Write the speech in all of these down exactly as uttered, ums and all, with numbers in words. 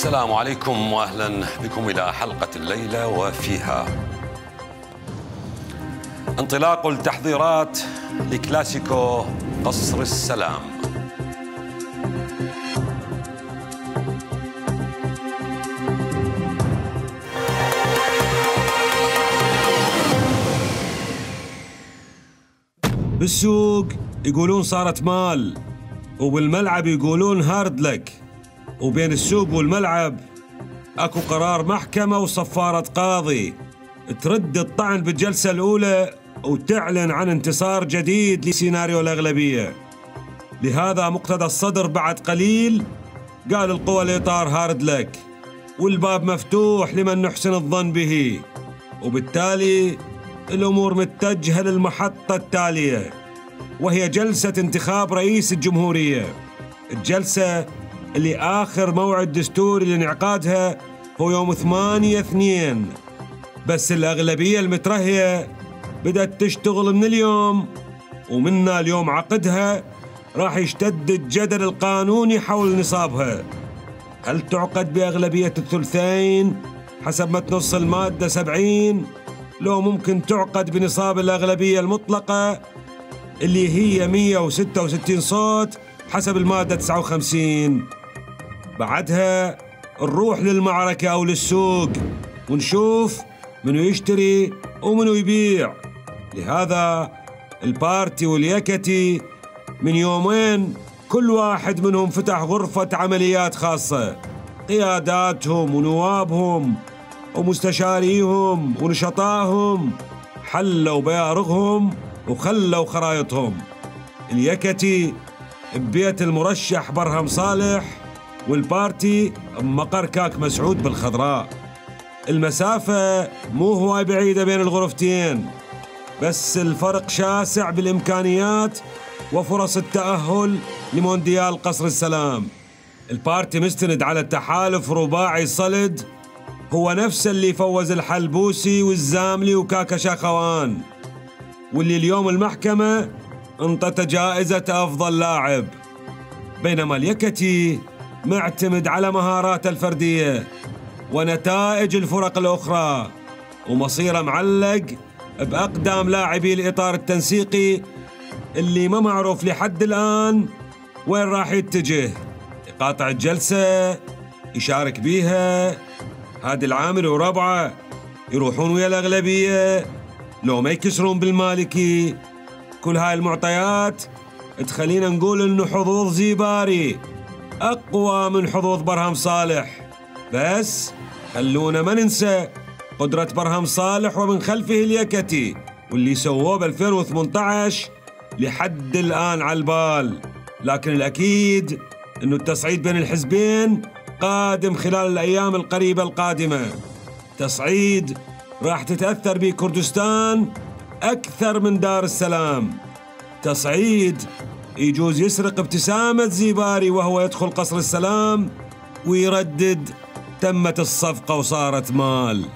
السلام عليكم واهلا بكم الى حلقه الليله وفيها انطلاق التحضيرات لكلاسيكو قصر السلام. بالسوق يقولون صارت مال، وبالملعب يقولون هارد لك، وبين السوق والملعب اكو قرار محكمة وصفارة قاضي ترد الطعن بالجلسة الأولى وتعلن عن انتصار جديد لسيناريو الأغلبية. لهذا مقتدى الصدر بعد قليل قال القوى الإطار هارد لك، والباب مفتوح لمن نحسن الظن به، وبالتالي الأمور متجهة للمحطة التالية، وهي جلسة انتخاب رئيس الجمهورية. الجلسة اللي آخر موعد دستوري لانعقادها هو يوم ثمانية اثنين، بس الأغلبية المترهية بدأت تشتغل من اليوم، ومنا اليوم عقدها راح يشتد الجدل القانوني حول نصابها. هل تعقد بأغلبية الثلثين حسب ما تنص المادة سبعين، لو ممكن تعقد بنصاب الأغلبية المطلقة اللي هي مئة وستة وستين صوت حسب المادة تسعة وخمسين؟ بعدها نروح للمعركة أو للسوق ونشوف منو يشتري ومنو يبيع. لهذا البارتي واليكتي من يومين كل واحد منهم فتح غرفة عمليات خاصة، قياداتهم ونوابهم ومستشاريهم ونشطائهم حلوا بيارغهم وخلوا خرايطهم. اليكتي ببيت المرشح برهم صالح، والبارتي بمقر كاك مسعود بالخضراء. المسافة مو هواي بعيدة بين الغرفتين، بس الفرق شاسع بالإمكانيات وفرص التأهل لمونديال قصر السلام. البارتي مستند على التحالف رباعي صلد، هو نفس اللي فوز الحلبوسي والزاملي وكاكا شاخوان، واللي اليوم المحكمة انطت جائزة أفضل لاعب. بينما اليكتي معتمد على مهاراته الفردية ونتائج الفرق الأخرى، ومصيره معلق بأقدام لاعبي الإطار التنسيقي اللي ما معروف لحد الآن وين راح يتجه. يقاطع الجلسة، يشارك بيها، هادي العامل وربعه يروحون ويا الأغلبية لو ما يكسرون بالمالكي. كل هاي المعطيات تخلينا نقول إنه حظوظ زيباري أقوى من حظوظ برهم صالح، بس خلونا ما ننسى قدرة برهم صالح ومن خلفه اليكتي، واللي سووه ب ألفين وثمانية عشر لحد الآن على البال. لكن الأكيد إنه التصعيد بين الحزبين قادم خلال الأيام القريبة القادمة. تصعيد راح تتأثر به كردستان أكثر من دار السلام. تصعيد يجوز يسرق ابتسامة زيباري وهو يدخل قصر السلام ويردد تمت الصفقة وصارت مال.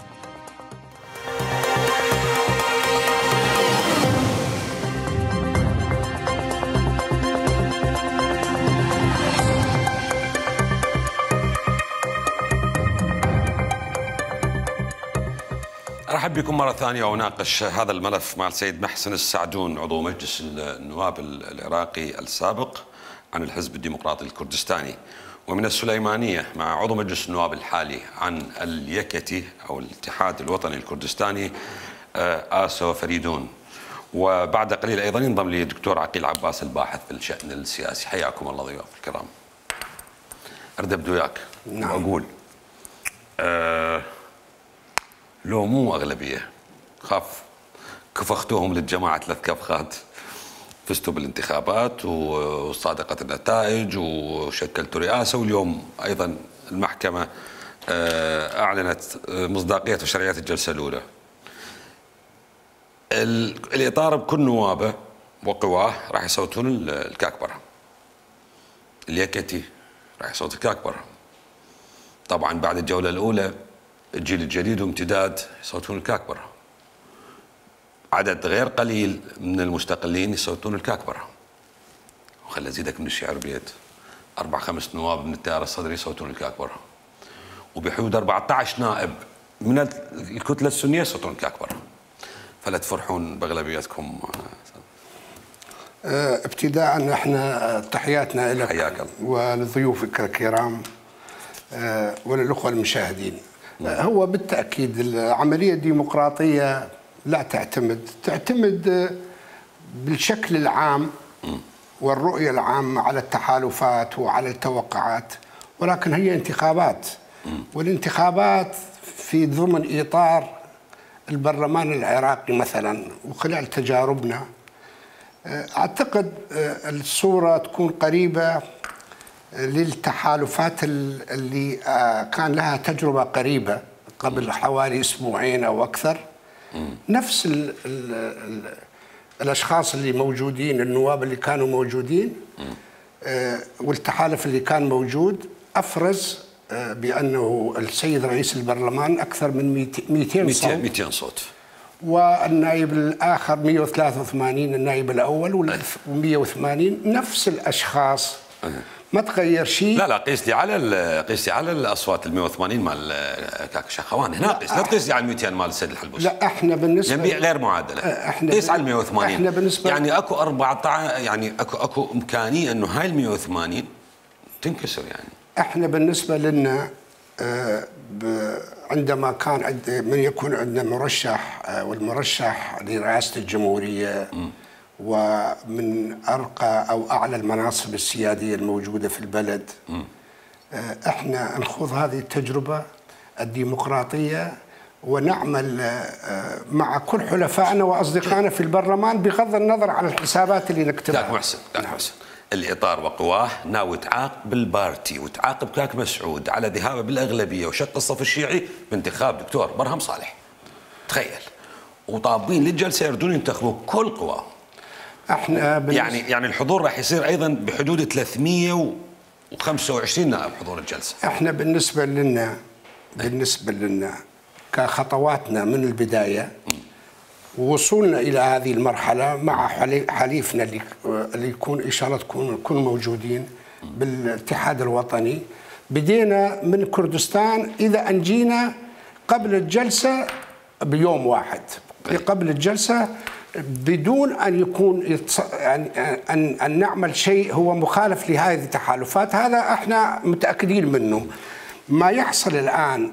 أرحب بكم مرة ثانية وأناقش هذا الملف مع السيد محسن السعدون عضو مجلس النواب العراقي السابق عن الحزب الديمقراطي الكردستاني، ومن السليمانية مع عضو مجلس النواب الحالي عن اليكتي أو الاتحاد الوطني الكردستاني آسو فريدون. وبعد قليل أيضا ينضم لي الدكتور عقيل عباس الباحث في الشأن السياسي. حياكم الله ضيوف الكرام. أرد أبدو وياك وأقول أه لو مو أغلبية، خاف كفختوهم للجماعة ثلاث كفخات، فزتوا بالانتخابات وصادقت النتائج وشكلتوا رئاسة، واليوم أيضا المحكمة أعلنت مصداقية وشرعية الجلسة الأولى. الإطار بكل نوابه وقواه راح يصوتون الكاك برهم. اليكتي راح يصوت الكاك برهم. طبعا بعد الجولة الأولى الجيل الجديد وامتداد يصوتون الكاك برهم. عدد غير قليل من المستقلين يصوتون الكاك برهم. وخلي ازيدك من الشعر بيت، اربع خمس نواب من التيار الصدري يصوتون الكاك برهم. وبحدود أربعة عشر نائب من الكتله السنيه صوتهم اكبر. فلا تفرحون باغلبيتكم. ابتداء احنا تحياتنا لك حياك الله ولضيوفك الكرام وللاخوه المشاهدين. هو بالتاكيد العمليه الديمقراطيه لا تعتمد تعتمد بالشكل العام والرؤيه العامه على التحالفات وعلى التوقعات، ولكن هي انتخابات، والانتخابات في ضمن اطار البرلمان العراقي مثلا. وخلال تجاربنا اعتقد الصوره تكون قريبه للتحالفات اللي كان لها تجربه قريبه قبل حوالي اسبوعين او اكثر. نفس ال ال ال الاشخاص اللي موجودين، النواب اللي كانوا موجودين والتحالف اللي كان موجود افرز بانه السيد رئيس البرلمان اكثر من مئتين صوت مئتين صوت، والنائب الاخر مئة وثلاثة وثمانين، النائب الاول ومئة وثمانين، نفس الاشخاص ما تغير شيء. لا لا قيس لي على قيس لي على الاصوات ال مئة وثمانين مال كاك شخوان هنا، قيس لا تقيس لي على مئتين مال السيد الحلبوسي. لا احنا بالنسبه ينبيع غير معادله، قيس على ال مئة وثمانين. احنا بالنسبه يعني اكو أربعة عشر، يعني اكو اكو امكانيه انه هاي ال مئة وثمانين تنكسر. يعني احنا بالنسبه لنا عندما كان من يكون عندنا مرشح والمرشح لرئاسه الجمهوريه م. ومن ارقى او اعلى المناصب السياديه الموجوده في البلد، م. احنا نخوض هذه التجربه الديمقراطيه ونعمل مع كل حلفائنا واصدقائنا في البرلمان بغض النظر عن الحسابات اللي نكتبها. كاك محسن، كاك محسن الاطار وقواه ناوي تعاقب البارتي وتعاقب كاك مسعود على ذهابه بالاغلبيه وشق الصف الشيعي بانتخاب دكتور برهم صالح. تخيل، وطابين للجلسه يردون ينتخبوا كل قواهم. احنا يعني يعني الحضور راح يصير ايضا بحدود ثلاثمئة وخمسة وعشرين نائب حضور الجلسه. احنا بالنسبه لنا بالنسبه لنا كخطواتنا من البدايه ووصولنا الى هذه المرحله مع حليفنا اللي اللي يكون ان شاء الله تكون نكون موجودين بالاتحاد الوطني، بدينا من كردستان اذا انجينا قبل الجلسه بيوم واحد، قبل الجلسه بدون ان يكون يعني ان ان نعمل شيء هو مخالف لهذه التحالفات. هذا احنا متاكدين منه. ما يحصل الان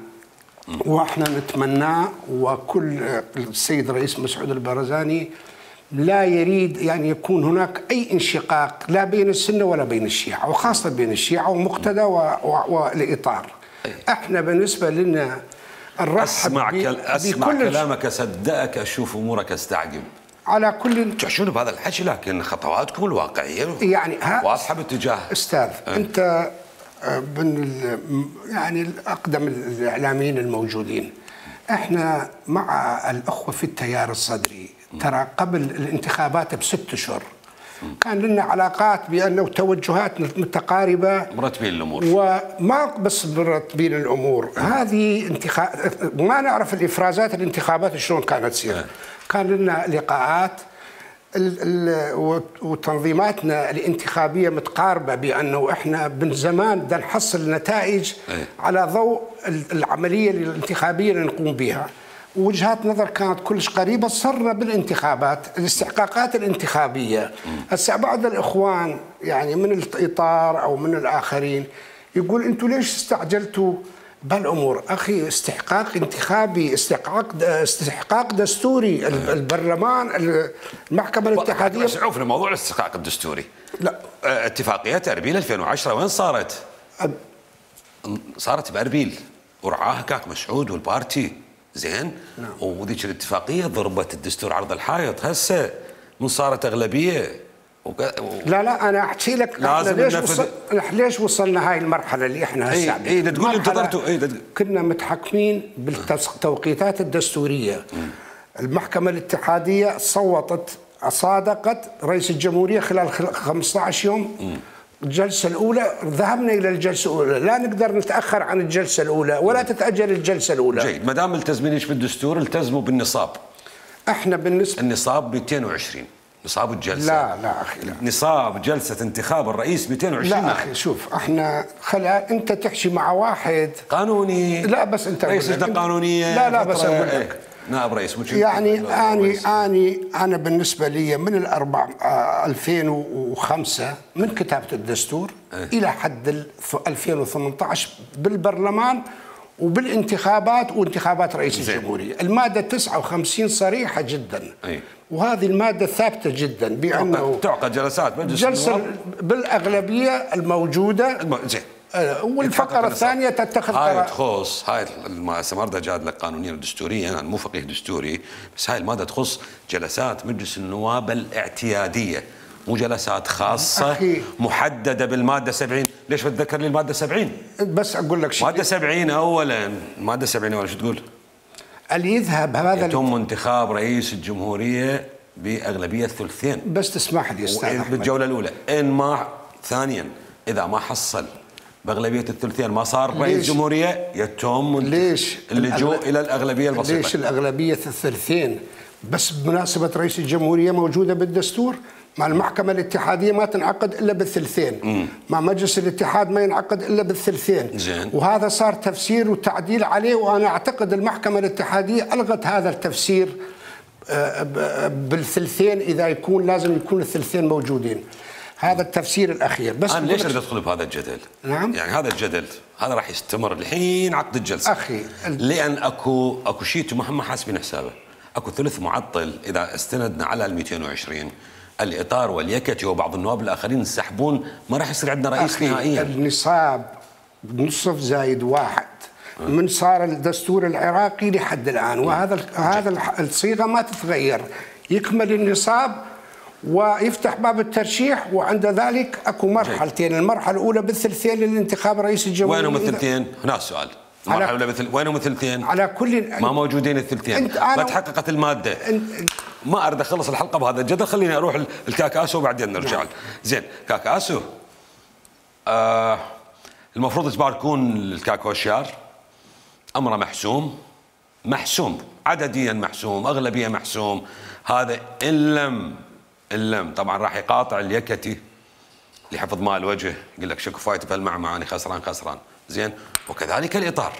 واحنا نتمناه، وكل السيد رئيس مسعود البرزاني لا يريد يعني يكون هناك اي انشقاق لا بين السنه ولا بين الشيعه، وخاصه بين الشيعه ومقتدى والاطار. احنا بالنسبه لنا نرحب اسمع كل اسمع كلامك، اصدقك، اشوف امورك استعجب. على كل تحشون بهذا الحكي، لكن خطواتكم الواقعيه يعني واضحه باتجاه. استاذ أه. انت من يعني الاقدم الاعلاميين الموجودين، احنا مع الاخوه في التيار الصدري ترى قبل الانتخابات بست اشهر كان لنا علاقات بانه توجهات متقاربه، مرتبين الامور، وما بس مرتبين الامور. هذه انتخاب ما نعرف الافرازات الانتخابات شلون كانت تصير. كان لنا لقاءات وتنظيماتنا الانتخابيه متقاربه بانه احنا من زمان بدنا نحصل نتائج على ضوء العمليه الانتخابيه اللي نقوم بها. وجهات نظر كانت كلش قريبه، صرنا بالانتخابات الاستحقاقات الانتخابيه. هسه بعض الاخوان يعني من الاطار او من الاخرين يقول انتم ليش استعجلتوا بالامور؟ اخي استحقاق انتخابي، استحقاق استحقاق دستوري. البرلمان، المحكمه الاتحاديه. بس عوفنا موضوع الاستحقاق الدستوري. لا اتفاقيه اربيل ألفين وعشرة وين صارت؟ أب... صارت باربيل ورعاها كاك مسعود والبارتي، زين؟ نعم. وذيك الاتفاقيه ضربت الدستور عرض الحائط. هسه من صارت اغلبيه وك... و... لا لا انا احكي لك ليش وصل... ليش وصلنا هاي المرحله اللي احنا هسه. اي اي تقول انتظرتوا. اي كنا متحكمين بالتوقيتات الدستوريه. م. المحكمه الاتحاديه صوتت صادقت رئيس الجمهوريه خلال خمسة عشر يوم. م. الجلسه الاولى ذهبنا الى الجلسه الاولى، لا نقدر نتاخر عن الجلسه الاولى ولا تتاجل الجلسه الاولى. جيد، ما دام ملتزمين بالدستور التزموا بالنصاب. احنا بالنسبه النصاب مئتين وعشرين. نصاب الجلسة. لا لا أخي لا. نصاب جلسة انتخاب الرئيس مئتين وعشرين لا نائب. أخي شوف احنا خلا أنت تحكي مع واحد قانوني. لا بس أنت رئيس لجنة قانونية. لا لا بس أقول لك ايه. نائب رئيس يعني اني اني انا بالنسبه لي من الاربع ألفين وخمسة من كتابه الدستور ايه. الى حد ألفين وثمانية عشر بالبرلمان وبالانتخابات وانتخابات رئيس زين. الجمهوريه، الماده تسعة وخمسين صريحه جدا. ايه. وهذه الماده ثابته جدا بانه تعقد جلسات مجلس جلسه بالاغلبيه الموجوده. الم... زين. والفقره الثانيه تتخذ هاي قرار. تخص هاي المادة جاد لك قانونيا ودستوريا، انا مو فقيه دستوري، بس هاي الماده تخص جلسات مجلس النواب الاعتياديه، مو جلسات خاصه أخي. محدده بالماده سبعين. ليش بتذكر لي الماده سبعين؟ بس اقول لك شيء. ماده سبعين اولا، ماده سبعين اولا شو تقول؟ اللي يذهب هذا يتم انتخاب رئيس الجمهوريه باغلبيه ثلثين. بس تسمح لي استاذ احمد بالجوله الاولى، ان ما ثانيا اذا ما حصل باغلبيه الثلثين ما صار رئيس جمهوريه يتم ليش اللجوء الى الاغلبيه البسيطه. ليش الاغلبيه الثلثين؟ بس بمناسبه رئيس الجمهوريه موجوده بالدستور، مع المحكمه الاتحاديه ما تنعقد الا بالثلثين، مم. مع مجلس الاتحاد ما ينعقد الا بالثلثين. زين. وهذا صار تفسير وتعديل عليه، وانا اعتقد المحكمه الاتحاديه الغت هذا التفسير بالثلثين، اذا يكون لازم يكون الثلثين موجودين. هذا التفسير الاخير. بس انا ليش اريد ادخل بهذا الجدل؟ نعم. يعني هذا الجدل هذا راح يستمر الحين عقد الجلسه. اخي لان اكو اكو شيء ما حاسبين حسابه، اكو ثلث معطل اذا استندنا على ال مئتين وعشرين، الاطار واليكتي وبعض النواب الاخرين ينسحبون، ما راح يصير عندنا رئيس نهائيا. النصاب نصف زايد واحد من صار الدستور العراقي لحد الان، وهذا هذا الصيغه ما تتغير، يكمل النصاب ويفتح باب الترشيح، وعند ذلك اكو مرحلتين، المرحله الاولى بالثلثين للانتخاب رئيس الجمهوريه. وينهم الثلثين؟ هنا السؤال. المرحله الاولى بالثل... وينهم الثلثين؟ على كل ما موجودين الثلثين، ما تحققت الماده. ما اريد اخلص الحلقه بهذا الجدل، خليني اروح الكاكاسو وبعدين نرجع. نعم. زين كاكاسو، آه المفروض تباركون الكاكوشيار، امره محسوم محسوم عدديا محسوم، اغلبيه محسوم. هذا ان لم ان لم طبعا راح يقاطع اليكتي لحفظ ماء الوجه، يقول لك شكو فايته بهالمعمعة اني خسران خسران. زين. وكذلك الاطار،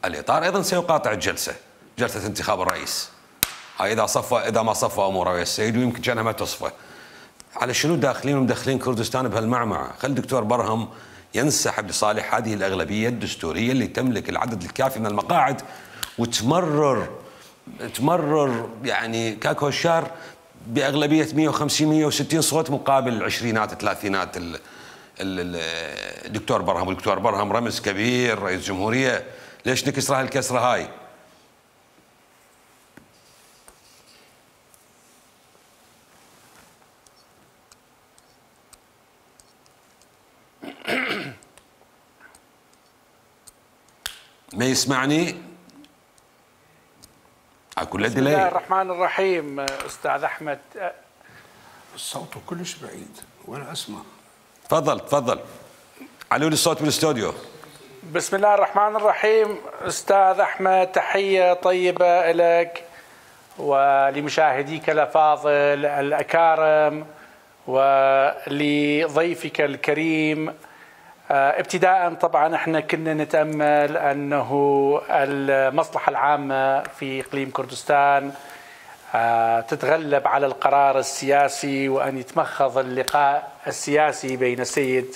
الاطار ايضا سيقاطع الجلسه، جلسه انتخاب الرئيس. هاي اذا صفى اذا ما صفى اموره ويا السيد، ويمكن كانها ما تصفى. على شنو داخلين ومدخلين كردستان بهالمعمعة؟ خلي الدكتور برهم ينسحب لصالح هذه الاغلبيه الدستوريه اللي تملك العدد الكافي من المقاعد، وتمرر تمرر يعني كاكوشار باغلبيه مئة وخمسين مئة وستين صوت مقابل العشرينات الثلاثينات. الدكتور برهم والدكتور برهم رمز كبير رئيس جمهوريه، ليش نكسر هالكسره هاي؟ ما يسمعني؟ اكو بسم الله الرحمن الرحيم. استاذ احمد، الصوت كلش بعيد ولا اسمع. تفضل تفضل، علوا لي الصوت بالاستوديو. بسم الله الرحمن الرحيم. استاذ احمد، تحيه طيبه لك ولمشاهديك الافاضل الاكارم ولضيفك الكريم. ابتداء طبعا احنا كنا نتامل انه المصلحه العامه في اقليم كردستان تتغلب على القرار السياسي، وان يتمخض اللقاء السياسي بين السيد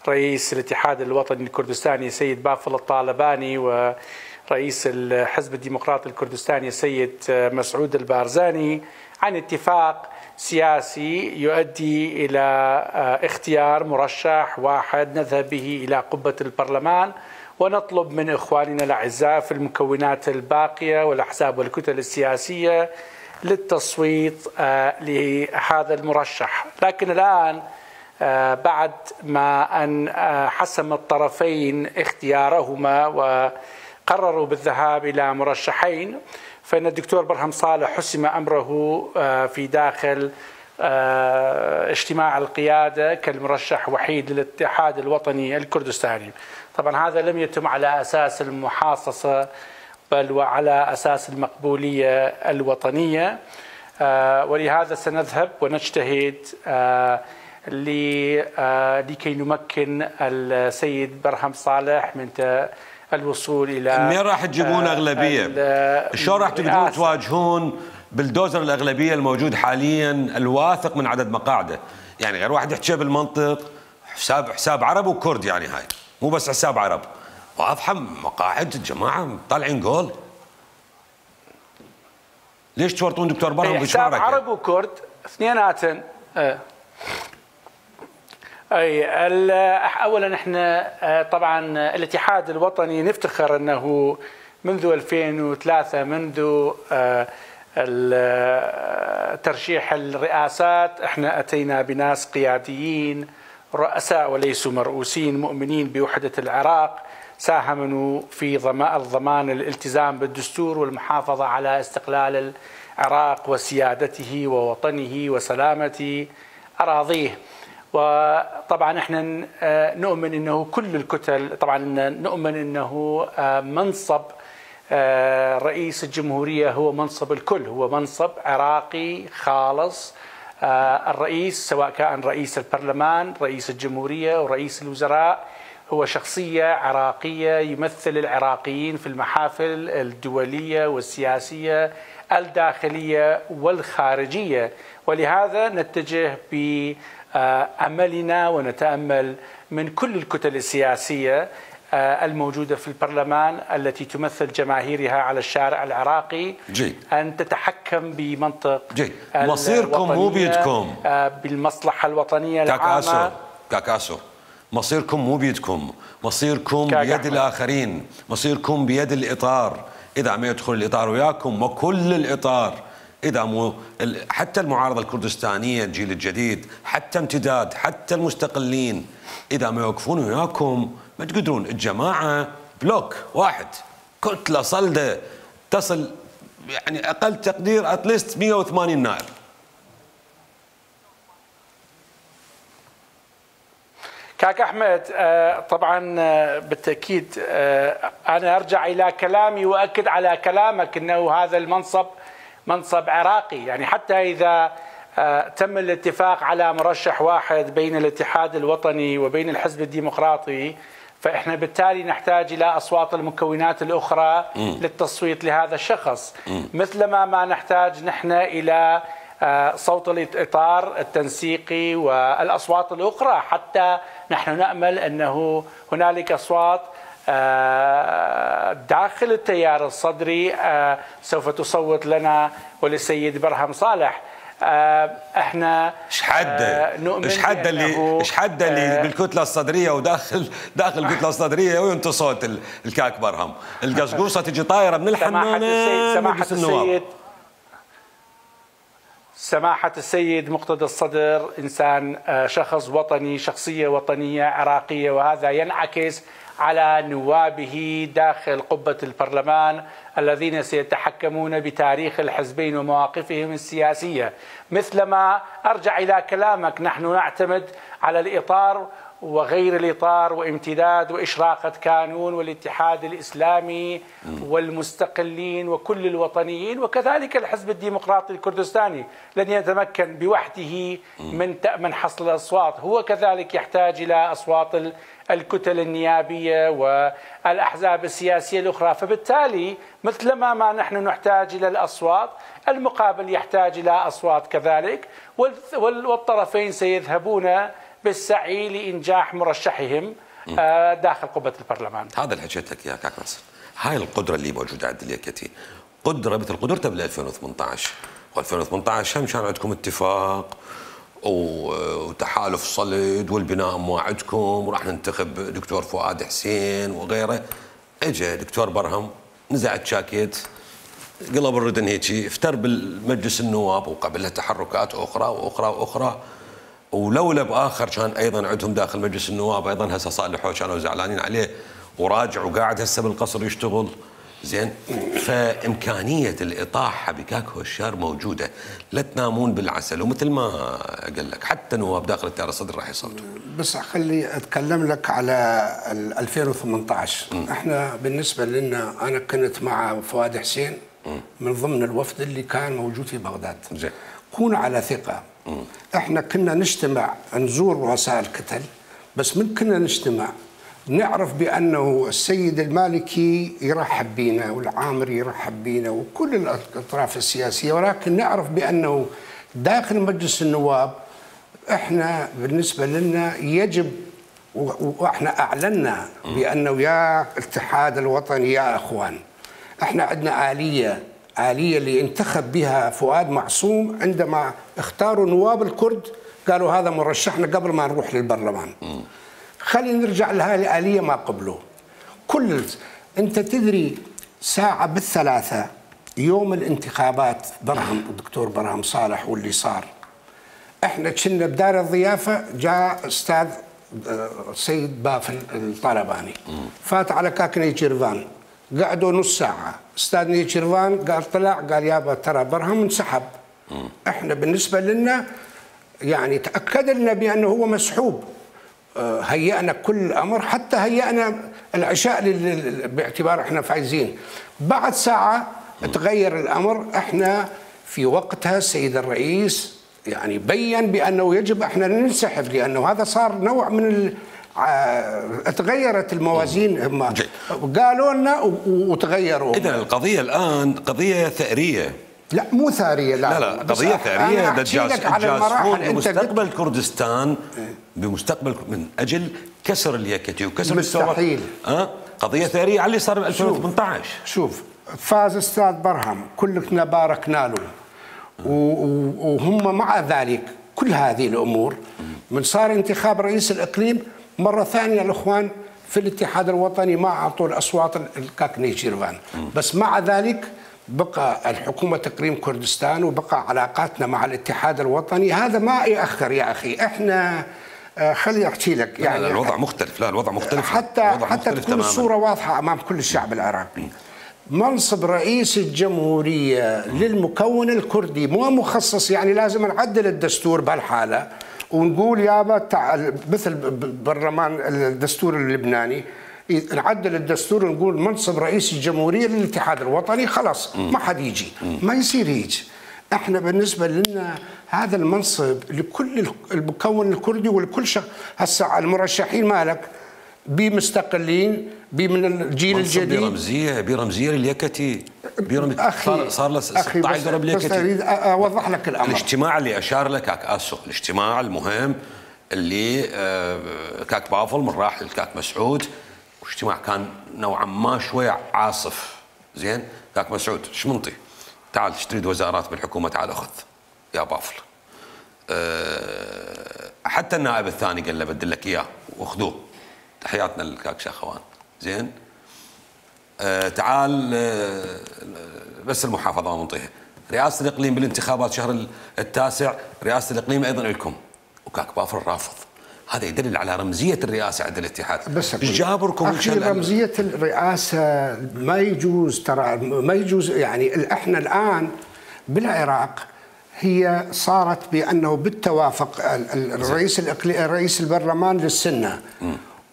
رئيس الاتحاد الوطني الكردستاني سيد بافل الطالباني ورئيس الحزب الديمقراطي الكردستاني السيد مسعود البارزاني عن اتفاق سياسي يؤدي إلى اختيار مرشح واحد نذهب به إلى قبة البرلمان، ونطلب من إخواننا الأعزاء في المكونات الباقية والأحزاب والكتل السياسية للتصويت لهذا المرشح. لكن الآن بعد ما أن حسم الطرفين اختيارهما وقرروا بالذهاب إلى مرشحين، فإن الدكتور برهم صالح حسم أمره في داخل اجتماع القيادة كالمرشح وحيد للاتحاد الوطني الكردستاني. طبعا هذا لم يتم على أساس المحاصصة بل وعلى أساس المقبولية الوطنية. ولهذا سنذهب ونجتهد لكي نمكن السيد برهم صالح من الوصول الى منين راح تجيبون اغلبيه؟ شلون راح تقدرون تواجهون بالدوزر الاغلبيه الموجود حاليا الواثق من عدد مقاعده؟ يعني غير واحد يحكي بالمنطق، حساب حساب عرب وكرد، يعني هاي مو بس حساب عرب، واضحه مقاعد الجماعه طالعين جول. ليش تورطون دكتور برهم حساب عرب وكرد اثنيناتن؟ اي اولا احنا طبعا الاتحاد الوطني نفتخر انه منذ ألفين وثلاثة منذ ترشيح الرئاسات احنا اتينا بناس قياديين رؤساء وليسوا مرؤوسين مؤمنين بوحدة العراق، ساهموا في الضمان الالتزام بالدستور والمحافظة على استقلال العراق وسيادته ووطنه وسلامة أراضيه. وطبعا احنا نؤمن انه كل الكتل، طبعا نؤمن انه منصب رئيس الجمهورية هو منصب الكل، هو منصب عراقي خالص. الرئيس سواء كان رئيس البرلمان، رئيس الجمهورية ورئيس الوزراء هو شخصية عراقية يمثل العراقيين في المحافل الدولية والسياسية الداخلية والخارجية. ولهذا نتجه بأملنا ونتأمل من كل الكتل السياسية الموجودة في البرلمان التي تمثل جماهيرها على الشارع العراقي جيد. أن تتحكم بمنطق جيد. مصيركم مو بيدكم، بالمصلحة الوطنية كاكاسو العامة. كاكاسو مصيركم مو بيدكم، مصيركم بيد الآخرين، مصيركم بيد الإطار. إذا ما يدخل الإطار وياكم وكل الإطار، إذا مو حتى المعارضة الكردستانية الجيل الجديد، حتى امتداد، حتى المستقلين، إذا ما يوقفون وياكم ما تقدرون. الجماعة بلوك واحد، كتلة صلدة تصل يعني أقل تقدير أتليست مئة وثمانين نائب. كاك أحمد، طبعا بالتأكيد أنا أرجع إلى كلامي وأكد على كلامك أنه هذا المنصب منصب عراقي. يعني حتى إذا تم الاتفاق على مرشح واحد بين الاتحاد الوطني وبين الحزب الديمقراطي، فإحنا بالتالي نحتاج إلى أصوات المكونات الأخرى م. للتصويت لهذا الشخص، مثلما ما نحتاج نحن إلى صوت الإطار التنسيقي والأصوات الأخرى، حتى نحن نأمل أنه هنالك أصوات داخل التيار الصدري سوف تصوت لنا وللسيد برهم صالح. احنا ايش حده ايش حده اللي ايش حده اللي بالكتله الصدريه وداخل داخل الكتله الصدريه وينطي صوت الكاك برهم، القصقوصه تجي طايره من الحمامه. سماحه السيد سماحة السيد مقتدى الصدر إنسان شخص وطني، شخصية وطنية عراقية، وهذا ينعكس على نوابه داخل قبة البرلمان الذين سيتحكمون بتاريخ الحزبين ومواقفهم السياسية. مثلما أرجع إلى كلامك، نحن نعتمد على الإطار وغير الإطار وامتداد وإشراقة كانون والاتحاد الإسلامي والمستقلين وكل الوطنيين، وكذلك الحزب الديمقراطي الكردستاني لن يتمكن بوحده من من حصل الأصوات، هو كذلك يحتاج إلى أصوات الكتل النيابية والأحزاب السياسية الأخرى. فبالتالي مثلما ما نحن نحتاج إلى الأصوات، المقابل يحتاج إلى أصوات كذلك، والطرفين سيذهبون بالسعي لإنجاح مرشحهم داخل قبة البرلمان. هذا اللي حكيتك يا كاك ناصر، هاي القدرة اللي موجودة عند اليكتي، قدرة مثل قدرتها بال ألفين وثمانية عشر، و2018 هم كان عندكم اتفاق وتحالف صلد والبناء موعدكم وراح ننتخب دكتور فؤاد حسين وغيره. اجى دكتور برهم نزع الشاكيت، قلب الردن هيجي، افتر بالمجلس النواب وقبلها تحركات اخرى واخرى واخرى، ولولا باخر كان ايضا عندهم داخل مجلس النواب ايضا هسه صالحوا كانوا زعلانين عليه وراجع وقاعد هسه بالقصر يشتغل زين. فامكانيه الاطاحه بكاك هوشيار موجوده، لا تنامون بالعسل، ومثل ما قال لك حتى نواب داخل التيار الصدري راح يصوتوا. بس خلي اتكلم لك على ألفين وثمانية عشر. م. احنا بالنسبه لنا انا كنت مع فؤاد حسين من ضمن الوفد اللي كان موجود في بغداد. زين. كونوا على ثقة. احنا كنا نجتمع نزور رؤساء الكتل، بس من كنا نجتمع نعرف بأنه السيد المالكي يرحب بينا والعامري يرحب بينا وكل الأطراف السياسية، ولكن نعرف بأنه داخل مجلس النواب احنا بالنسبة لنا يجب، واحنا اعلنا بانه يا الاتحاد الوطني يا اخوان، احنا عندنا آلية آلية اللي انتخب بها فؤاد معصوم عندما اختاروا نواب الكرد، قالوا هذا مرشحنا قبل ما نروح للبرلمان. خلينا نرجع لهذه الآلية ما قبله. كل انت تدري ساعة بالثلاثة يوم الانتخابات برهم الدكتور برهم صالح واللي صار، احنا كنا بدار الضيافة، جاء استاذ سيد بافل الطلباني فات على كاك نيتشيرفان، قعدوا نص ساعة، استاذ نيتشيرفان قال طلع قال يابا ترى برهم انسحب. احنا بالنسبة لنا يعني تأكد لنا بأنه هو مسحوب، هيأنا كل الأمر، حتى هيأنا العشاء باعتبار احنا فايزين. بعد ساعة تغير الأمر، احنا في وقتها السيد الرئيس يعني بين بأنه يجب احنا ننسحب، لأنه هذا صار نوع من ال... تغيرت الموازين، هم قالوا لنا وتغيروا. إذن القضية الآن قضية ثأرية. لا مو ثأرية، لا لا, لا قضية ثأرية. الجاسوس بمستقبل كردستان، بمستقبل من أجل كسر اليكتي وكسر مستحيل. أه؟ قضية ثأرية على اللي صار ب ألفين وثمانية عشر. شوف فاز استاذ برهم كلنا باركنا له، وهم مع ذلك كل هذه الأمور من صار انتخاب رئيس الإقليم مرة ثانية الإخوان في الاتحاد الوطني ما أعطوا الأصوات الكاك نيتشيرفان، بس مع ذلك بقى الحكومة إقليم كردستان وبقى علاقاتنا مع الاتحاد الوطني. هذا ما يأخر يا أخي، إحنا خلي أحكي لك يعني. لا لا الوضع مختلف، لا الوضع مختلف حتى الوضع حتى مختلف تكون تماماً. الصورة واضحة أمام كل الشعب العراقي. منصب رئيس الجمهورية للمكون الكردي مو مخصص، يعني لازم نعدل الدستور بهالحالة ونقول يابا تعال مثل برلمان الدستور اللبناني نعدل الدستور ونقول منصب رئيس الجمهورية للاتحاد الوطني، خلاص ما حد يجي، ما يصير هيك. احنا بالنسبة لنا هذا المنصب لكل المكون الكردي ولكل شخص. هسه المرشحين مالك بمستقلين بمن الجيل الجديد، برمزيه برمزيه لليكتي، صار صار له ستة عشر درب اليكتي. بس اريد اوضح لك الامر. الاجتماع اللي اشار له كاك اسو، الاجتماع المهم اللي كاك بافل من راح للكاك مسعود، واجتماع كان نوعا ما شوي عاصف. زين كاك مسعود ايش منطي؟ تعال ايش تريد وزارات بالحكومه؟ تعال اخذ يا بافل. حتى النائب الثاني قال له بدل لك اياه واخذوه. تحياتنا للكاك شاخوان. زين آه تعال آه بس المحافظه ما منطيها. رئاسه الاقليم بالانتخابات شهر التاسع، رئاسه الاقليم ايضا لكم، وكاك بافر رافض. هذا يدل على رمزيه الرئاسه عند الاتحاد. بس ايش جابركم؟ اخي رمزيه الرئاسه ما يجوز، ترى ما يجوز. يعني احنا الان بالعراق هي صارت بانه بالتوافق الرئيس الاقليم رئيس البرلمان للسنه،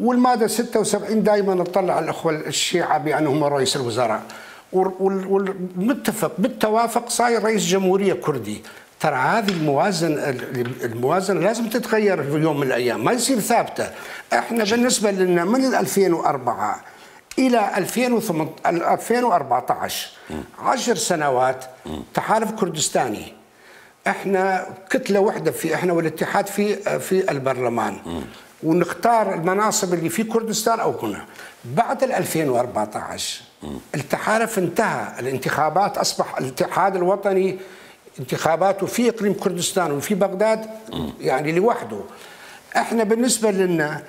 والماده ستة وسبعين دائما نطلع الاخوه الشيعه بانهم رئيس الوزراء، والمتفق بالتوافق صاير رئيس جمهوريه كردي. ترى هذه الموازنه الموازنه لازم تتغير في يوم من الايام، ما يصير ثابته. احنا بالنسبه لنا من ألفين وأربعة الى ألفين وأربعة عشر عشر سنوات تحالف كردستاني، احنا كتله واحده في احنا والاتحاد في في البرلمان، ونختار المناصب اللي في كردستان او هنا. بعد ألفين وأربعة عشر التحالف انتهى، الانتخابات اصبح الاتحاد الوطني انتخاباته في اقليم كردستان وفي بغداد يعني لوحده. احنا بالنسبه لنا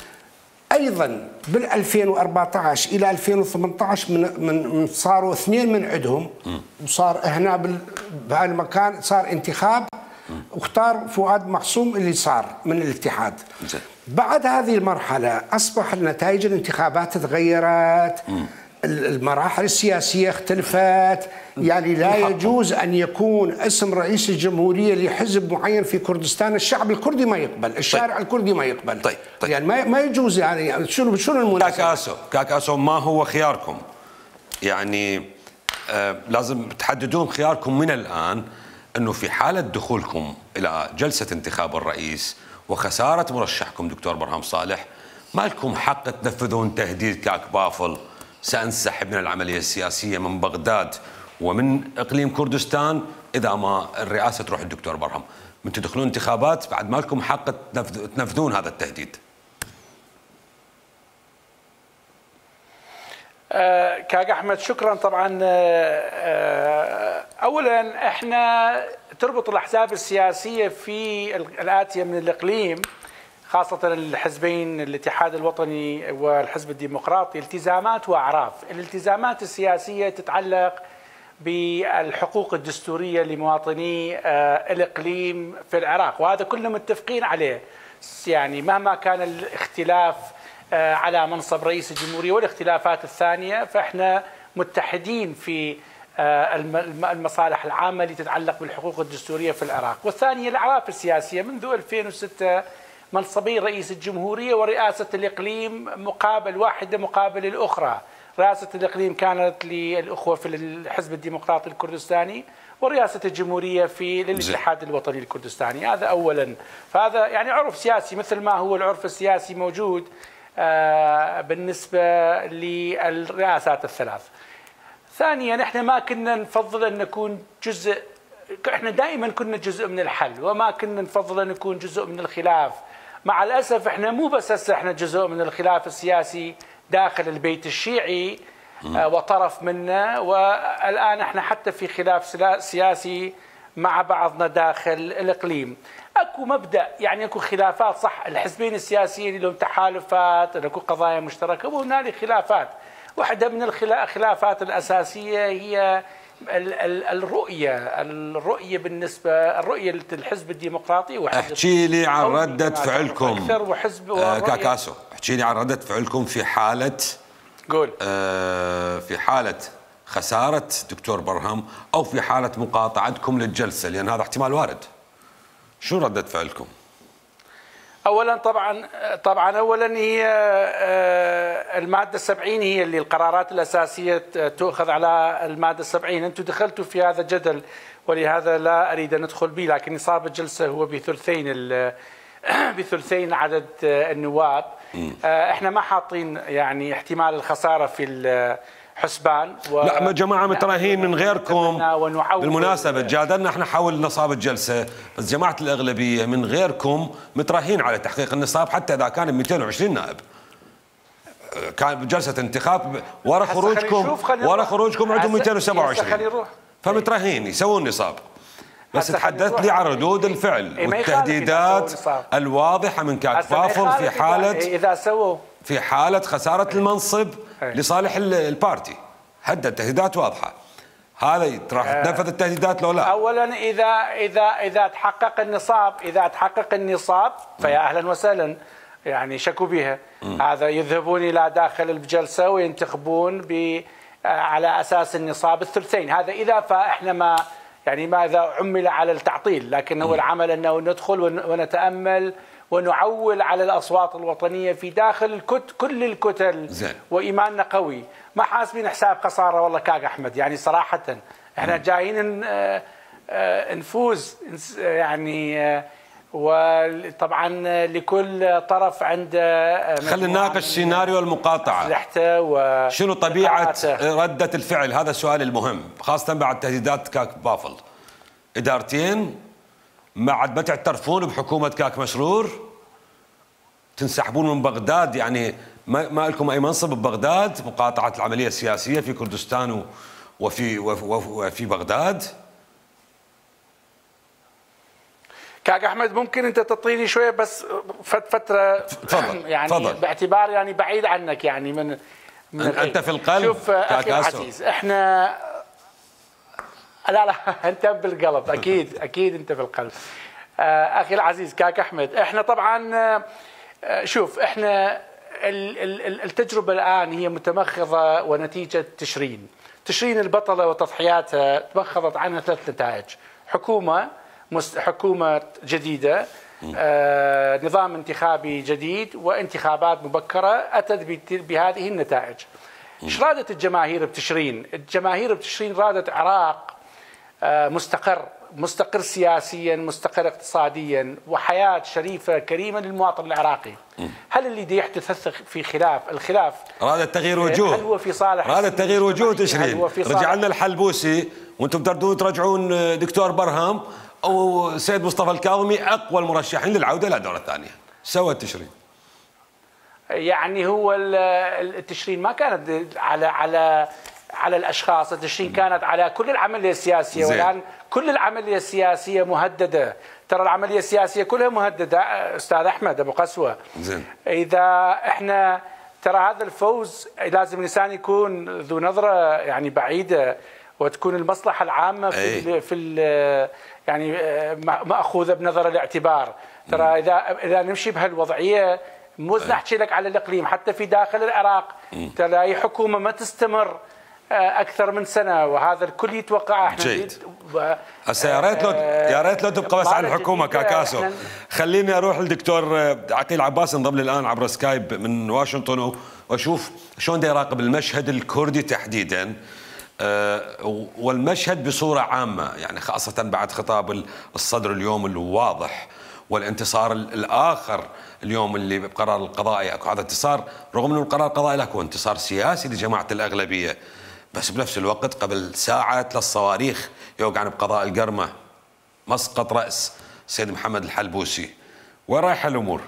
ايضا بال ألفين وأربعة عشر الى ألفين وثمانية عشر من من صاروا اثنين من عندهم، وصار هنا بهالمكان صار انتخاب واختار فؤاد معصوم اللي صار من الاتحاد. بعد هذه المرحله اصبح النتائج الانتخابات تغيرت، المراحل السياسيه اختلفت، يعني لا يجوز ان يكون اسم رئيس الجمهوريه لحزب معين في كردستان الشعب الكردي ما يقبل، الشارع طيب. الكردي ما يقبل. طيب. طيب. يعني ما ما يجوز. يعني شنو شنو المناسبه؟ كاك اسو كاك اسو ما هو خياركم؟ يعني آه لازم تحددون خياركم من الآن، أنه في حالة دخولكم إلى جلسة انتخاب الرئيس وخسارة مرشحكم دكتور برهم صالح، ما لكم حق تنفذون تهديد كاك بافل: سأنسحب من العملية السياسية من بغداد ومن إقليم كردستان إذا ما الرئاسة تروح الدكتور برهم. من تدخلون انتخابات بعد ما لكم حق تنفذون هذا التهديد. أه كاك أحمد شكرا. طبعا أه أولا احنا تربط الأحزاب السياسية في الآتية من الإقليم، خاصة الحزبين الاتحاد الوطني والحزب الديمقراطي، التزامات وأعراف. الالتزامات السياسية تتعلق بالحقوق الدستورية لمواطني الإقليم في العراق، وهذا كلنا متفقين عليه. يعني مهما كان الاختلاف على منصب رئيس الجمهورية والاختلافات الثانية، فإحنا متحدين في المصالح العامة اللي تتعلق بالحقوق الدستورية في العراق. والثانية الأعراف السياسية. منذ ألفين وستة منصبي رئيس الجمهورية ورئاسة الإقليم مقابل واحدة مقابل الأخرى. رئاسة الإقليم كانت للأخوة في الحزب الديمقراطي الكردستاني، ورئاسة الجمهورية في للاتحاد الوطني الكردستاني. هذا أولا. فهذا يعني عرف سياسي مثل ما هو العرف السياسي موجود بالنسبة للرئاسات الثلاث. ثانيا احنا ما كنا نفضل أن نكون جزء، احنا دائما كنا جزء من الحل وما كنا نفضل أن نكون جزء من الخلاف. مع الأسف احنا مو بس هسه احنا جزء من الخلاف السياسي داخل البيت الشيعي وطرف منه، والآن احنا حتى في خلاف سياسي مع بعضنا داخل الإقليم. اكو مبدأ، يعني اكو خلافات صح، الحزبين السياسيين لهم تحالفات، اكو قضايا مشتركة وهنالك خلافات. واحدة من الخلافات الأساسية هي الرؤية الرؤية بالنسبة الرؤية للحزب الديمقراطي. احكي لي عن ردة فعلكم أكثر وحزب آه كاكاسو، احكي لي عن ردة فعلكم في حالة قول آه في حالة خسارة دكتور برهم أو في حالة مقاطعتكم للجلسة، لأن هذا احتمال وارد. شو ردة فعلكم؟ اولا طبعا طبعا اولا هي الماده السبعين هي اللي القرارات الاساسيه تؤخذ على الماده السبعين. انتم دخلتوا في هذا الجدل ولهذا لا اريد ان ادخل به، لكن نصاب الجلسه هو بثلثين بثلثين عدد النواب. احنا ما حاطين يعني احتمال الخساره في حسبان و... لا يا جماعه متراهين من غيركم. بالمناسبه جادلنا احنا حول نصاب الجلسه، بس جماعه الاغلبيه من غيركم متراهين على تحقيق النصاب حتى اذا كان مئتين وعشرين نائب. كان بجلسه انتخاب ورا خروجكم ورا خروجكم عندهم مئتين وسبعة وعشرين، فمتراهين يسوون نصاب. بس تحدث لي عن ردود الفعل والتهديدات الواضحه من كاك فافل في حاله اذا سووا في حالة خسارة المنصب لصالح البارتي. هدد تهديدات واضحة. هذا راح تنفذ التهديدات لو لا؟ اولا اذا اذا اذا تحقق النصاب اذا تحقق النصاب فيا اهلا وسهلا، يعني شكوا بها. هذا يذهبون الى داخل الجلسة وينتخبون ب على اساس النصاب الثلثين. هذا اذا فاحنا ما يعني ما اذا عمل على التعطيل، لكن هو العمل انه ندخل ونتامل ونعول على الأصوات الوطنية في داخل الكت كل الكتل زي. وإيماننا قوي، ما حاسبين حساب خسارة. والله كاك أحمد يعني صراحة احنا جايين نفوز يعني، وطبعا لكل طرف عنده خلينا نناقش سيناريو المقاطعة. و شنو طبيعة ردة الفعل؟ هذا السؤال المهم، خاصة بعد تهديدات كاك بافل. إدارتين ما عاد ما تعترفون بحكومة كاك مسرور، تنسحبون من بغداد، يعني ما, ما لكم أي منصب ببغداد، مقاطعة العملية السياسية في كردستان وفي وفي بغداد. كاك أحمد ممكن أنت تعطيني شوية بس فترة تفضل يعني فضل. باعتبار يعني بعيد عنك يعني من, من أنت في القلب. شوف أخي العزيز، إحنا لا لا انت بالقلب اكيد اكيد انت في القلب. اخي العزيز كاك احمد، احنا طبعا شوف احنا التجربه الان هي متمخضه ونتيجه تشرين تشرين البطله وتضحياتها تمخضت عنها ثلاث نتائج: حكومه حكومه جديده، نظام انتخابي جديد، وانتخابات مبكره اتت بهذه النتائج. ايش رادت الجماهير بتشرين؟ الجماهير بتشرين رادت عراق مستقر، مستقر سياسيا، مستقر اقتصاديا، وحياة شريفة كريمة للمواطن العراقي. هل اللي دي يحدث في خلاف الخلاف رادت تغيير وجوه؟ هل هو في صالح رادت تغيير وجوه تشرين؟ رجع لنا الحلبوسي وانتم تردون ترجعون دكتور برهم او سيد مصطفى الكاظمي اقوى المرشحين للعودة الى الدورة الثانية. سوت تشرين يعني هو التشرين ما كانت على على على الاشخاص، التشرين كانت على كل العمليه السياسيه، والان كل العمليه السياسيه مهدده. ترى العمليه السياسيه كلها مهدده استاذ احمد ابو قسوه. زين. اذا احنا ترى هذا الفوز لازم الانسان يكون ذو نظره يعني بعيده، وتكون المصلحه العامه في ال في ال يعني ماخوذه بنظر الاعتبار. ترى اذا اذا نمشي بهالوضعيه مو نحكي لك على الاقليم، حتى في داخل العراق ترى اي حكومه ما تستمر اكثر من سنه، وهذا الكل يتوقع. احنا جيد. هسه يا ريت لو يا ريت لو تبقى بس على الحكومه كاكاسو. خليني اروح للدكتور عقيل عباس، انضم لي الان عبر سكايب من واشنطن، واشوف شلون دا يراقب المشهد الكردي تحديدا والمشهد بصوره عامه، يعني خاصه بعد خطاب الصدر اليوم الواضح والانتصار الاخر اليوم اللي بقرار القضائي. اكو هذا انتصار، رغم انه القرار القضائي اكو انتصار سياسي لجماعه الاغلبيه، بس بنفس الوقت قبل ساعات للصواريخ يوقعن بقضاء القرمه مسقط راس السيد محمد الحلبوسي. وين رايحه الامور؟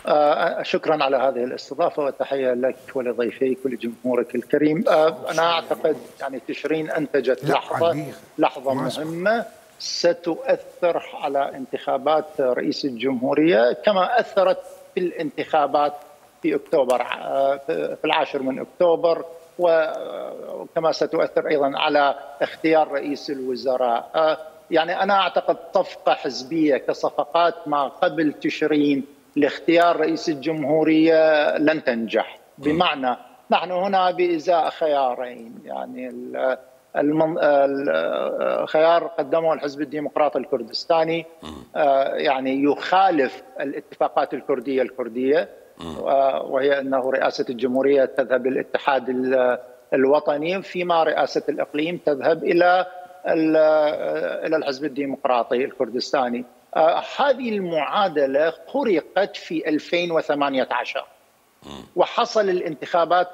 آه شكرا على هذه الاستضافه وتحيه لك ولضيفيك ولجمهورك الكريم. آه انا اعتقد يعني تشرين انتجت لحظه لحظه مهمه ستؤثر على انتخابات رئيس الجمهوريه، كما اثرت في الانتخابات في اكتوبر في العاشر من اكتوبر، وكما ستؤثر ايضا على اختيار رئيس الوزراء. يعني انا اعتقد صفقه حزبيه كصفقات ما قبل تشرين لاختيار رئيس الجمهوريه لن تنجح، بمعنى نحن هنا بازاء خيارين، يعني المن... الخيار قدمه الحزب الديمقراطي الكردستاني يعني يخالف الاتفاقات الكرديه الكرديه، وهي انه رئاسه الجمهوريه تذهب للاتحاد الوطني، فيما رئاسه الاقليم تذهب الى الى الحزب الديمقراطي الكردستاني. هذه المعادله خرقت في ألفين وثمانية عشر، وحصل الانتخابات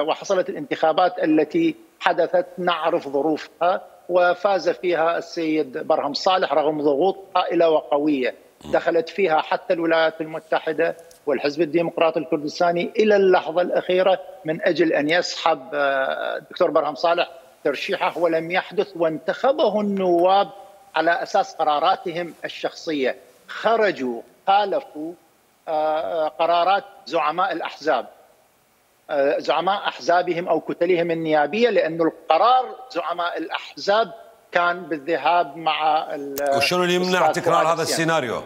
وحصلت الانتخابات التي حدثت نعرف ظروفها، وفاز فيها السيد برهم صالح رغم ضغوط هائله وقويه دخلت فيها حتى الولايات المتحده والحزب الديمقراطي الكردستاني الى اللحظه الاخيره من اجل ان يسحب الدكتور برهم صالح ترشيحه، ولم يحدث، وانتخبه النواب على اساس قراراتهم الشخصيه. خرجوا خالفوا قرارات زعماء الاحزاب، زعماء احزابهم او كتلهم النيابيه، لانه القرار زعماء الاحزاب كان بالذهاب مع. وشنو اللي يمنع تكرار هذا السيناريو؟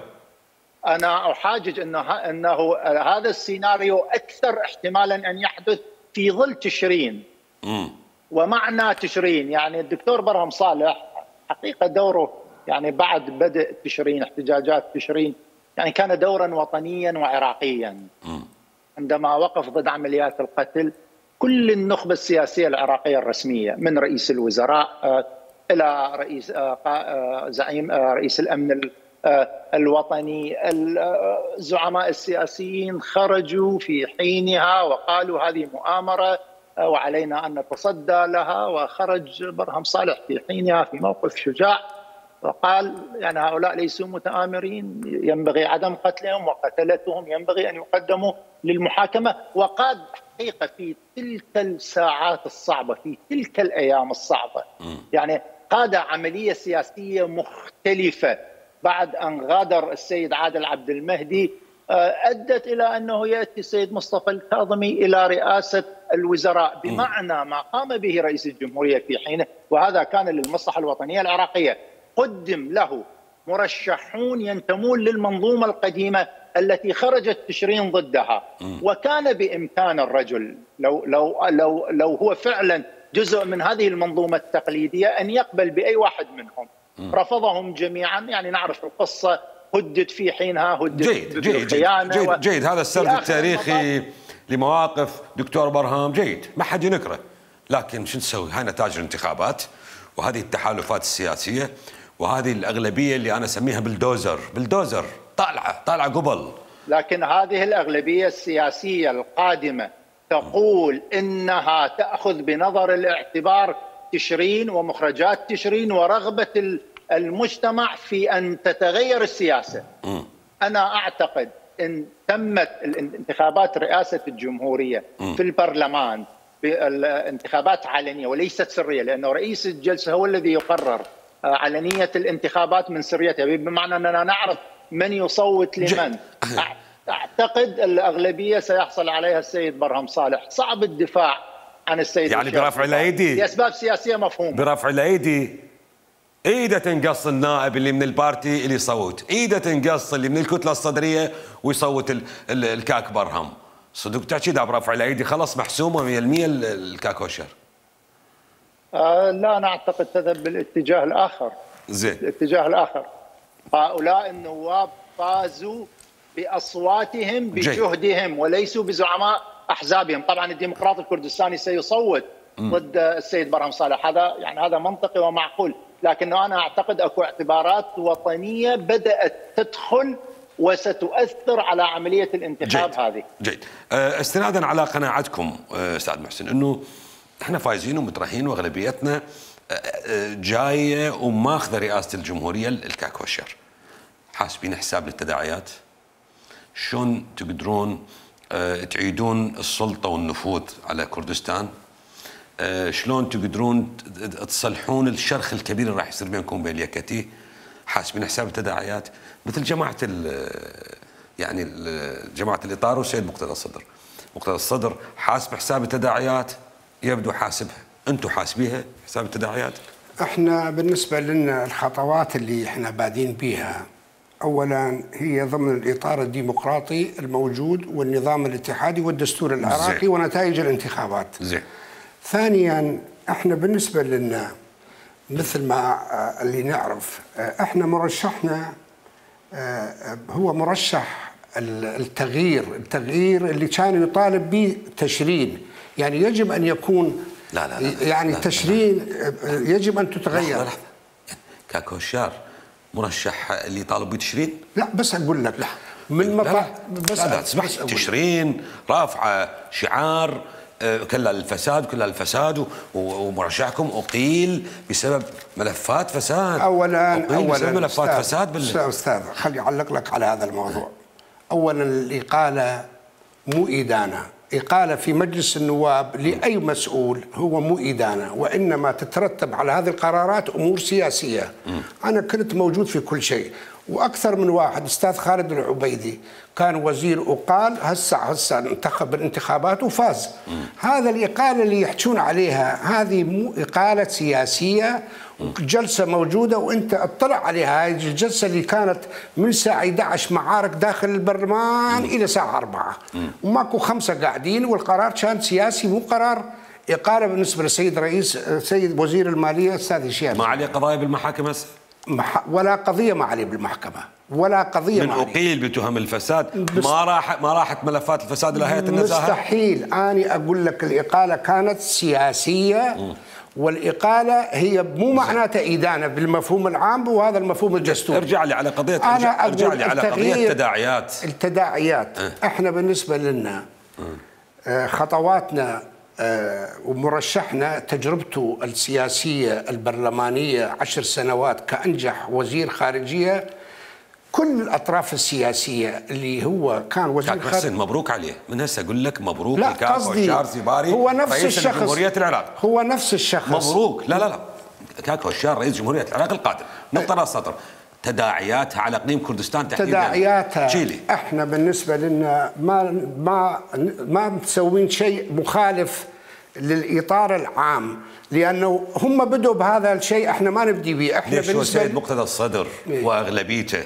انا احاجج انه انه هذا السيناريو اكثر احتمالا ان يحدث في ظل تشرين. امم ومعنى تشرين يعني الدكتور برهم صالح حقيقه دوره يعني بعد بدء تشرين، احتجاجات تشرين، يعني كان دورا وطنيا وعراقيا. م. عندما وقف ضد عمليات القتل كل النخبه السياسيه العراقيه الرسميه، من رئيس الوزراء الى رئيس زعيم رئيس الامن الوطني، الزعماء السياسيين خرجوا في حينها وقالوا هذه مؤامره وعلينا ان نتصدى لها، وخرج برهم صالح في حينها في موقف شجاع وقال يعني هؤلاء ليسوا متآمرين، ينبغي عدم قتلهم، وقتلتهم ينبغي أن يقدموا للمحاكمة. وقاد حقيقة في تلك الساعات الصعبة، في تلك الأيام الصعبة، يعني قاد عملية سياسية مختلفة بعد أن غادر السيد عادل عبد المهدي، أدت إلى أنه يأتي السيد مصطفى الكاظمي إلى رئاسة الوزراء، بمعنى ما قام به رئيس الجمهورية في حينه، وهذا كان للمصلحة الوطنية العراقية. قدم له مرشحون ينتمون للمنظومة القديمة التي خرجت تشرين ضدها، وكان بإمكان الرجل لو لو لو لو هو فعلا جزء من هذه المنظومة التقليدية أن يقبل بأي واحد منهم. رفضهم جميعا، يعني نعرف القصة، هدد في حينها، هدد جيد جيد جيد, جيد, جيد هذا السرد التاريخي لمواقف دكتور برهام جيد، ما حد ينكره، لكن شو نسوي؟ هاي نتائج الانتخابات، وهذه التحالفات السياسيه، وهذه الاغلبيه اللي انا اسميها بلدوزر، بلدوزر طالعه طالعه قبل. لكن هذه الاغلبيه السياسيه القادمه تقول انها تاخذ بنظر الاعتبار تشرين ومخرجات تشرين ورغبه المجتمع في ان تتغير السياسه. م. انا اعتقد ان تمت الانتخابات رئاسه الجمهوريه م. في البرلمان بانتخابات علنيه وليست سريه، لانه رئيس الجلسه هو الذي يقرر علنيه الانتخابات من سريتها، بمعنى اننا نعرف من يصوت لمن. اعتقد الاغلبيه سيحصل عليها السيد برهم صالح. صعب الدفاع عن السيد يعني برفع الايدي لاسباب سياسيه مفهومه. برفع الايدي ايده تنقص النائب اللي من البارتي اللي يصوت، ايده تنقص اللي من الكتله الصدريه ويصوت الكاك برهم. صدق تحكي ده برفع الايدي خلص محسومه مية بالمية الكاك وشر؟ آه لا، انا اعتقد تذهب بالاتجاه الاخر. زين. الاتجاه الاخر. هؤلاء النواب فازوا باصواتهم بجهدهم وليسوا بزعماء احزابهم. طبعا الديمقراطي الكردستاني سيصوت م. ضد السيد برهم صالح، هذا يعني هذا منطقي ومعقول، لكنه انا اعتقد اكو اعتبارات وطنيه بدات تدخل وستؤثر على عمليه الانتخاب. جيد. هذه. جيد. استنادا على قناعتكم استاذ محسن انه احنا فايزين ومترهين واغلبيتنا جايه وماخذه رئاسه الجمهوريه الكاك والشر، حاسبين حساب للتداعيات؟ شلون تقدرون تعيدون السلطه والنفوذ على كردستان؟ شلون تقدرون تصلحون الشرخ الكبير اللي راح يصير بينكم وبين اليكتي؟ حاسبين حساب التداعيات مثل جماعه يعني جماعه الاطار والسيد مقتدى الصدر. مقتدى الصدر حاسب حساب التداعيات، يبدو حاسبها، انتم حاسبيها حساب التداعيات؟ احنا بالنسبه لنا الخطوات اللي احنا بادين بيها اولا هي ضمن الاطار الديمقراطي الموجود والنظام الاتحادي والدستور العراقي زي. ونتائج الانتخابات. زين. ثانيا احنا بالنسبه لنا مثل ما اللي نعرف احنا مرشحنا هو مرشح التغيير، التغيير اللي كان يطالب به تشرين، يعني يجب ان يكون لا لا لا يعني لا تشرين لا لا يجب ان تتغير. لحظة لحظة. كاك وشار مرشح اللي طالب بتشرين؟ لا بس اقول لك لا من مطا بس لا تسمح تشرين رافعه شعار كلها الفساد كلها الفساد ومرشحكم اقيل بسبب ملفات فساد. اولا اولا بسبب ملفات أستاذ فساد بال... استاذ خلي اعلق لك على هذا الموضوع. اولا الاقاله مو ادانه، إقالة في مجلس النواب لأي مسؤول هو مو إدانة، وإنما تترتب على هذه القرارات أمور سياسية. م. أنا كنت موجود في كل شيء، وأكثر من واحد. أستاذ خالد العبيدي كان وزير وقال هسه هسه انتخب بالانتخابات وفاز. م. هذا الإقالة اللي يحجون عليها هذه مو إقالة سياسية، جلسة موجودة وانت اطلع عليها. هذه الجلسة اللي كانت من الساعة أحد عشر معارك داخل البرلمان إلى الساعة أربعة وماكو خمسة قاعدين، والقرار كان سياسي مو قرار إقالة بالنسبة للسيد رئيس سيد وزير المالية أستاذ هشام. ما عليه قضايا بالمحاكم هسه؟ ولا قضية ما عليه بالمحكمة، ولا قضية من أقيل بتهم الفساد. ما راح ما راحت ملفات الفساد إلى هيئة النزاهة؟ مستحيل. أنا أقول لك الإقالة كانت سياسية. م. والإقالة هي مو معناتها إدانة بالمفهوم العام وهذا المفهوم الدستوري. ارجع لي على قضية أنا ارجع لي على قضية التداعيات. التداعيات أه. احنا بالنسبة لنا أه. خطواتنا أه ومرشحنا تجربته السياسية البرلمانية عشر سنوات كأنجح وزير خارجية. كل الأطراف السياسية اللي هو كان وزير خارجية مبروك عليه. من هسه أقول لك مبروك لكاك وشار زباري هو نفس رئيس الشخص جمهورية العراق. هو نفس الشخص مبروك. لا لا لا كاك وشار رئيس جمهورية العراق القادم. نقطة السطر. تداعياتها على اقليم كردستان تحديدا. تداعياتها جيلي. احنا بالنسبه لنا ما ما ما مسوين شيء مخالف للاطار العام، لانه هم بدوا بهذا الشيء احنا ما نبدي به. احنا ليش بالنسبه السيد مقتدى الصدر إيه؟ واغلبيته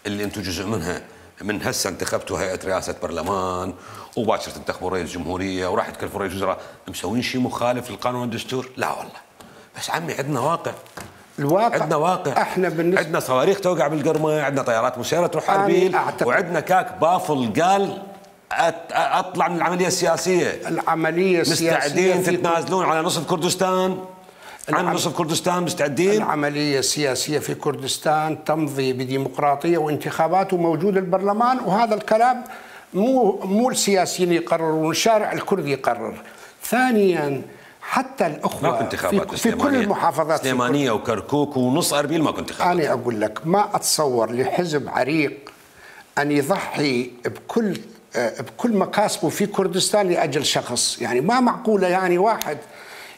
اللي انتم جزء منها من هسه انتخبتوا هيئه رئاسه برلمان وباكر تنتخبوا رئيس جمهوريه وراح تكلفوا رئيس وزراء، مسوين شيء مخالف للقانون والدستور؟ لا والله. بس عمي عندنا واقع. الواقع عندنا واقع. احنا بالنسبة عندنا صواريخ توقع بالقرمه، عندنا طيارات مسيره تروح اربيل، وعندنا كاك بافل قال اطلع من العمليه السياسيه. العمليه السياسيه مستعدين تتنازلون على نصف كردستان؟ عن نصف كردستان مستعدين؟ العمليه السياسيه في كردستان تمضي بديمقراطيه وانتخابات وموجود البرلمان، وهذا الكلام مو مو السياسيين يقررون، الشارع الكردي يقرر. ثانيا حتى الاخوه ماكو انتخابات في, في كل المحافظات، سليمانيه وكركوك ونص اربيل ماكو انتخابات. انا اقول لك ما اتصور لحزب عريق ان يضحي بكل بكل مكاسبه في كردستان لاجل شخص، يعني ما معقوله يعني واحد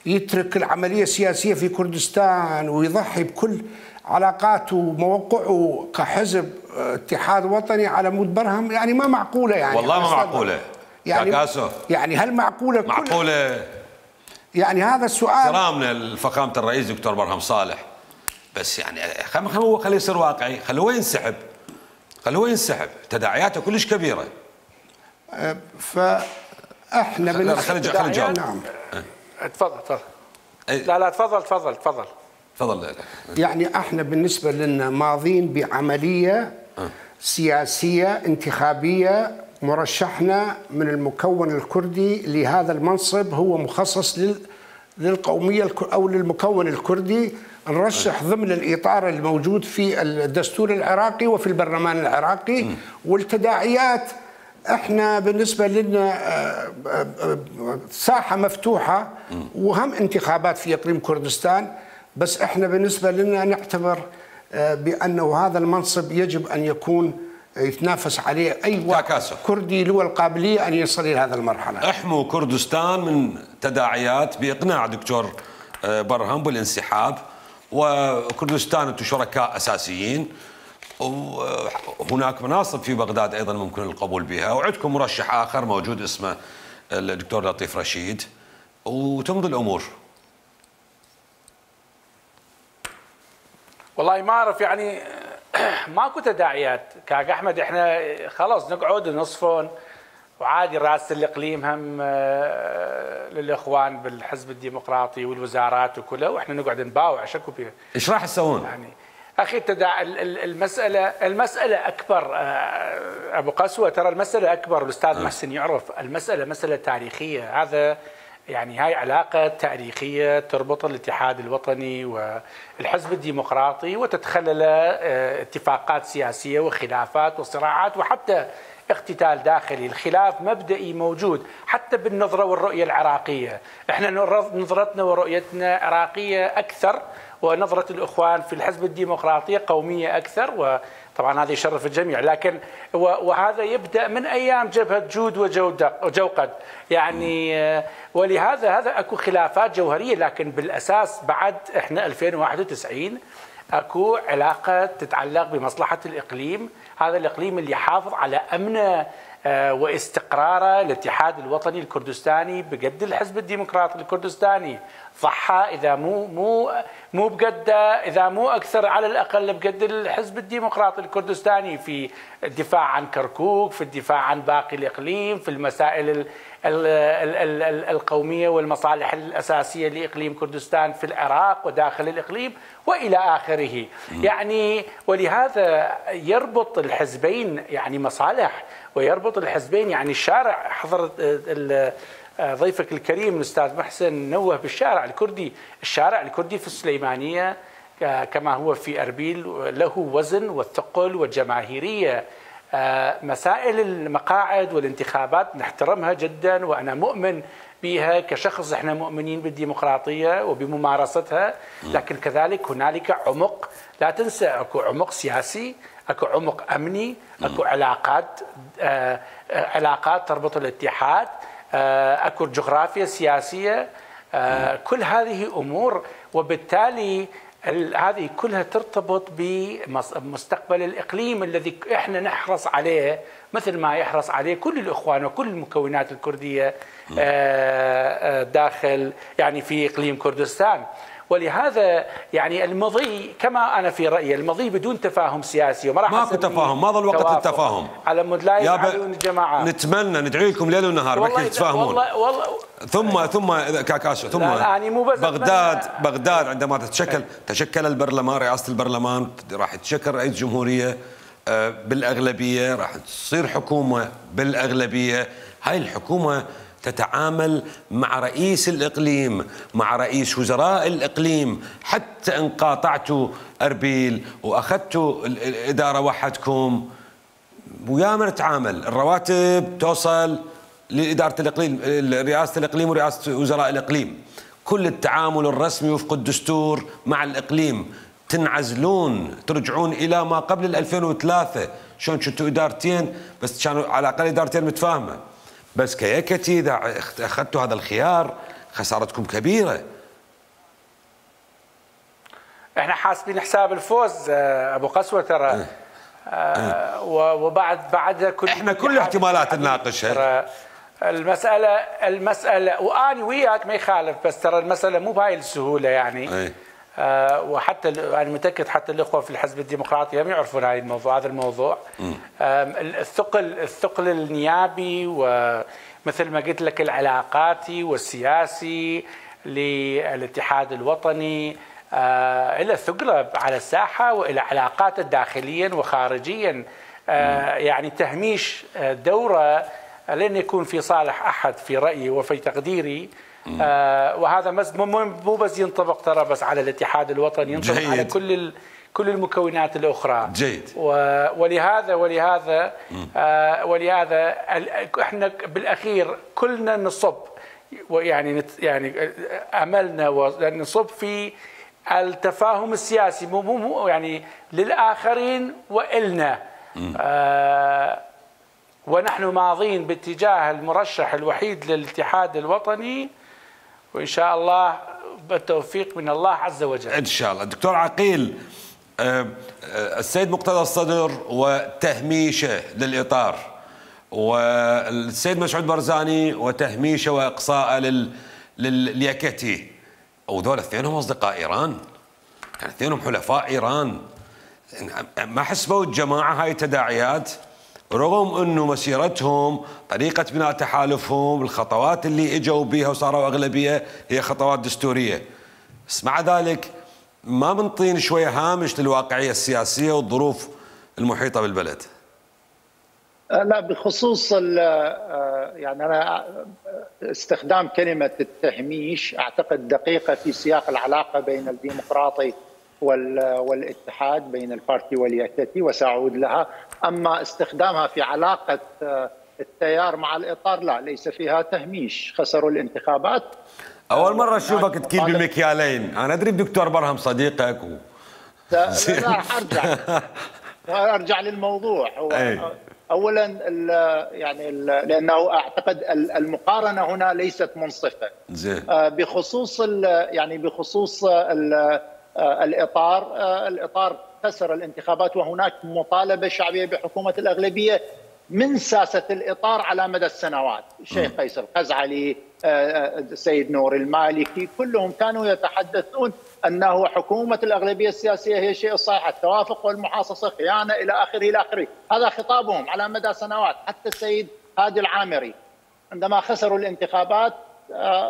يترك العمليه السياسيه في كردستان ويضحي بكل علاقاته وموقعه كحزب اتحاد وطني على مود برهم، يعني ما معقوله يعني. والله ما معقوله يعني كاكاسو. يعني هل معقوله؟ معقوله يعني هذا السؤال. احترامنا لفخامه الرئيس دكتور برهم صالح، بس يعني هو خليه يصير واقعي، خلوه ينسحب، خلوه ينسحب، تداعياته كلش كبيره. فاحنا بالنسبه خلي خلي نجاوب. نعم تفضل تفضل. لا لا تفضل تفضل تفضل تفضل. يعني احنا بالنسبه لنا ماضين بعمليه سياسيه انتخابيه، مرشحنا من المكون الكردي لهذا المنصب هو مخصص لل للقوميه او للمكون الكردي، نرشح ضمن الاطار الموجود في الدستور العراقي وفي البرلمان العراقي. والتداعيات احنا بالنسبه لنا ساحه مفتوحه وهم انتخابات في اقليم كردستان، بس احنا بالنسبه لنا نعتبر بانه هذا المنصب يجب ان يكون يتنافس عليه اي واحد كردي له القابليه ان يصل الى هذه المرحله. احموا كردستان من تداعيات باقناع دكتور برهم بالانسحاب، وكردستان انتم شركاء اساسيين، وهناك مناصب في بغداد ايضا ممكن القبول بها، وعندكم مرشح اخر موجود اسمه الدكتور لطيف رشيد، وتمضي الامور. والله ما اعرف يعني ماكو تداعيات كاك احمد، احنا خلاص نقعد نصفون وعادي رئاسه الاقليم هم للاخوان بالحزب الديمقراطي والوزارات وكله، واحنا نقعد نباوع شكو فيها. ايش راح تسوون؟ يعني اخي التداع المساله المساله اكبر ابو قسوه، ترى المساله اكبر، الاستاذ محسن يعرف المساله مساله تاريخيه، هذا يعني هاي علاقه تاريخيه تربط الاتحاد الوطني والحزب الديمقراطي وتتخلل اتفاقات سياسيه وخلافات وصراعات وحتى اقتتال داخلي. الخلاف مبدئي موجود حتى بالنظره والرؤيه العراقيه، احنا نظرتنا ورؤيتنا عراقيه اكثر، ونظره الاخوان في الحزب الديمقراطي قوميه اكثر، وطبعا هذا يشرف الجميع، لكن وهذا يبدا من ايام جبهه جود وجوقد يعني، ولهذا هذا اكو خلافات جوهريه، لكن بالاساس بعد احنا ألفين وواحد وتسعين اكو علاقه تتعلق بمصلحه الاقليم، هذا الاقليم اللي يحافظ على امنه واستقراره. الاتحاد الوطني الكردستاني بقد الحزب الديمقراطي الكردستاني ضحى، اذا مو مو مو بقد اذا مو اكثر على الاقل بقد الحزب الديمقراطي الكردستاني في الدفاع عن كركوك، في الدفاع عن باقي الاقليم، في المسائل ال ال ال ال القوميه والمصالح الاساسيه لاقليم كردستان في العراق وداخل الاقليم والى اخره. يعني ولهذا يربط الحزبين يعني مصالح، ويربط الحزبين يعني الشارع. حضرت ضيفك الكريم الاستاذ محسن نوه بالشارع الكردي، الشارع الكردي في السليمانيه كما هو في اربيل له وزن والثقل والجماهيريه. مسائل المقاعد والانتخابات نحترمها جدا، وانا مؤمن بها كشخص، احنا مؤمنين بالديمقراطيه وبممارستها، لكن كذلك هنالك عمق، لا تنسى اكو عمق سياسي، اكو عمق امني، اكو علاقات آه علاقات تربط الاتحاد، آه اكو جغرافيا سياسيه، آه كل هذه امور، وبالتالي هذه كلها ترتبط بمستقبل الاقليم الذي احنا نحرص عليه مثل ما يحرص عليه كل الاخوان وكل المكونات الكرديه داخل يعني في اقليم كردستان. ولهذا يعني المضي كما انا في رايي المضي بدون تفاهم سياسي، وما راح ماكو تفاهم، ما ظل وقت التفاهم على مود لا يفعلون الجماعات. نتمنى ندعي لكم ليل ونهار بكي تتفاهمون. والله والله ثم ثم كاكاسو ثم بغداد بغداد عندما تتشكل تشكل البرلمان، رئاسه البرلمان راح تشكل رئيس جمهوريه، بالأغلبية، راح تصير حكومة بالأغلبية. هاي الحكومة تتعامل مع رئيس الإقليم، مع رئيس وزراء الإقليم، حتى إن قاطعتوا أربيل وأخذتوا الإدارة وحدكم وياما نتعامل. الرواتب توصل لإدارة الإقليم، رئاسة الإقليم ورئاسة وزراء الإقليم. كل التعامل الرسمي وفق الدستور مع الإقليم. تنعزلون، ترجعون إلى ما قبل ال ألفين وثلاثة، شلون كنتوا إدارتين بس كانوا على الأقل إدارتين متفاهمة. بس كيكتي إذا أخذتوا هذا الخيار خسارتكم كبيرة. احنا حاسبين حساب الفوز أبو قسوة ترى. اه. اه. وبعد بعد كل احنا كل الاحتمالات نناقشها. المسألة المسألة وأنا وياك ما يخالف، بس ترى المسألة مو بهاي السهولة يعني. ايه. آه وحتى أنا متأكد حتى الأخوة في الحزب الديمقراطي هم يعرفون هاي الموضوع هذا الموضوع. آه الثقل الثقل النيابي ومثل ما قلت لك العلاقاتي والسياسي للاتحاد الوطني آه إلى ثقله على الساحة وإلى علاقاته داخليا وخارجيا. آه يعني تهميش دوره لن يكون في صالح أحد في رأيي وفي تقديري. آه وهذا مو بس ينطبق ترى بس على الاتحاد الوطني، ينطبق جيد. على كل كل المكونات الأخرى. جيد. ولهذا ولهذا آه ولهذا احنا بالأخير كلنا نصب يعني يعني أملنا ونصب في التفاهم السياسي مو مو يعني للآخرين وإلنا. آه ونحن ماضين باتجاه المرشح الوحيد للاتحاد الوطني، وإن شاء الله بالتوفيق من الله عز وجل. إن شاء الله. دكتور عقيل، السيد مقتدى الصدر وتهميشه للإطار، والسيد مسعود برزاني وتهميشه وإقصاءه لل لليكتي، وذول اثنينهم أصدقاء إيران، يعني اثنينهم حلفاء إيران. ما حسبوا الجماعة هاي تداعيات رغم أنه مسيرتهم، طريقة بناء تحالفهم، الخطوات اللي اجوا بها وصاروا أغلبية هي خطوات دستورية، بس مع ذلك ما بنطين شوية هامش للواقعية السياسية والظروف المحيطة بالبلد. لا، بخصوص يعني أنا استخدام كلمة التهميش أعتقد دقيقة في سياق العلاقة بين الديمقراطي والاتحاد، بين البارتي واليكتي، وسأعود لها. أما استخدامها في علاقة التيار مع الإطار لا، ليس فيها تهميش. خسروا الانتخابات. أول مرة أشوفك تكيل بالمكيالين. أنا أدري دكتور برهم صديقك و... لا راح أرجع أرجع للموضوع. هو أولا ال يعني ال لأنه أعتقد المقارنة هنا ليست منصفة. زين. بخصوص يعني بخصوص ال الإطار، الإطار خسر الانتخابات وهناك مطالبة شعبية بحكومة الأغلبية من ساسة الإطار على مدى السنوات. الشيخ قيس الخزعلي، السيد نور المالكي، كلهم كانوا يتحدثون أنه حكومة الأغلبية السياسية هي الشيء الصحيح، التوافق والمحاصصة خيانة إلى آخره إلى آخره. هذا خطابهم على مدى سنوات. حتى السيد هادي العامري عندما خسروا الانتخابات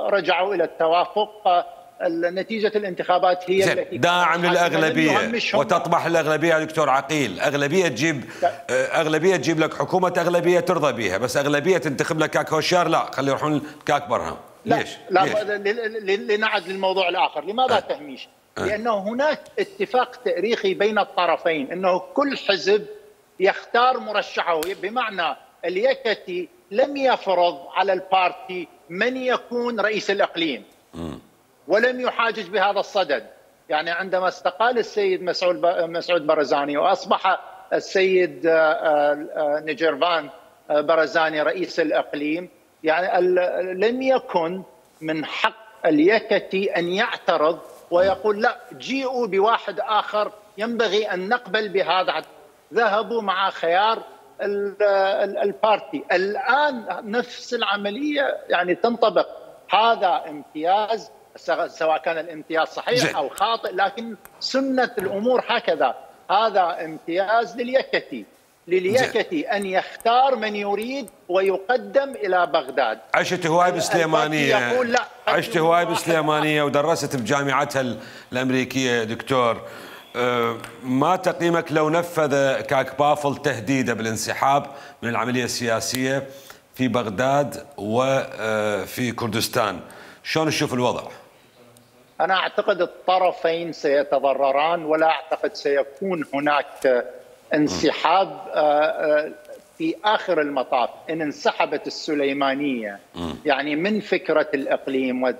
رجعوا إلى التوافق. نتيجة الانتخابات هي التي داعم للأغلبية وتطمح الأغلبية. دكتور عقيل، أغلبية تجيب أغلبية تجيب لك حكومة أغلبية ترضى بها، بس أغلبية تنتخب لك كاك هوشيار لا، خلي يروحون كاك برهم. ليش؟ لا, لا لنعد للموضوع الآخر. لماذا أه. تهميش؟ أه. لأنه هناك اتفاق تاريخي بين الطرفين أنه كل حزب يختار مرشحه، بمعنى اليكتي لم يفرض على البارتي من يكون رئيس الإقليم م. ولم يحاجج بهذا الصدد. يعني عندما استقال السيد مسعود مسعود برزاني وأصبح السيد نجيرفان برزاني رئيس الإقليم، يعني لم يكن من حق اليكتي أن يعترض ويقول لا جيئوا بواحد آخر ينبغي أن نقبل بهذا. ذهبوا مع خيار البارتي. الآن نفس العملية يعني تنطبق. هذا امتياز، سواء كان الامتياز صحيح أو خاطئ، لكن سنة الأمور هكذا. هذا امتياز لليكتي لليكتي أن يختار من يريد ويقدم إلى بغداد. عشت هواي بسليمانية، عشت هواي بسليمانية ودرست بجامعتها الأمريكية دكتور. ما تقييمك لو نفذ كاك بافل تهديده بالانسحاب من العملية السياسية في بغداد وفي كردستان، شلون تشوف الوضع؟ أنا أعتقد الطرفين سيتضرران، ولا أعتقد سيكون هناك انسحاب. في آخر المطاف إن انسحبت السليمانية يعني من فكرة الإقليم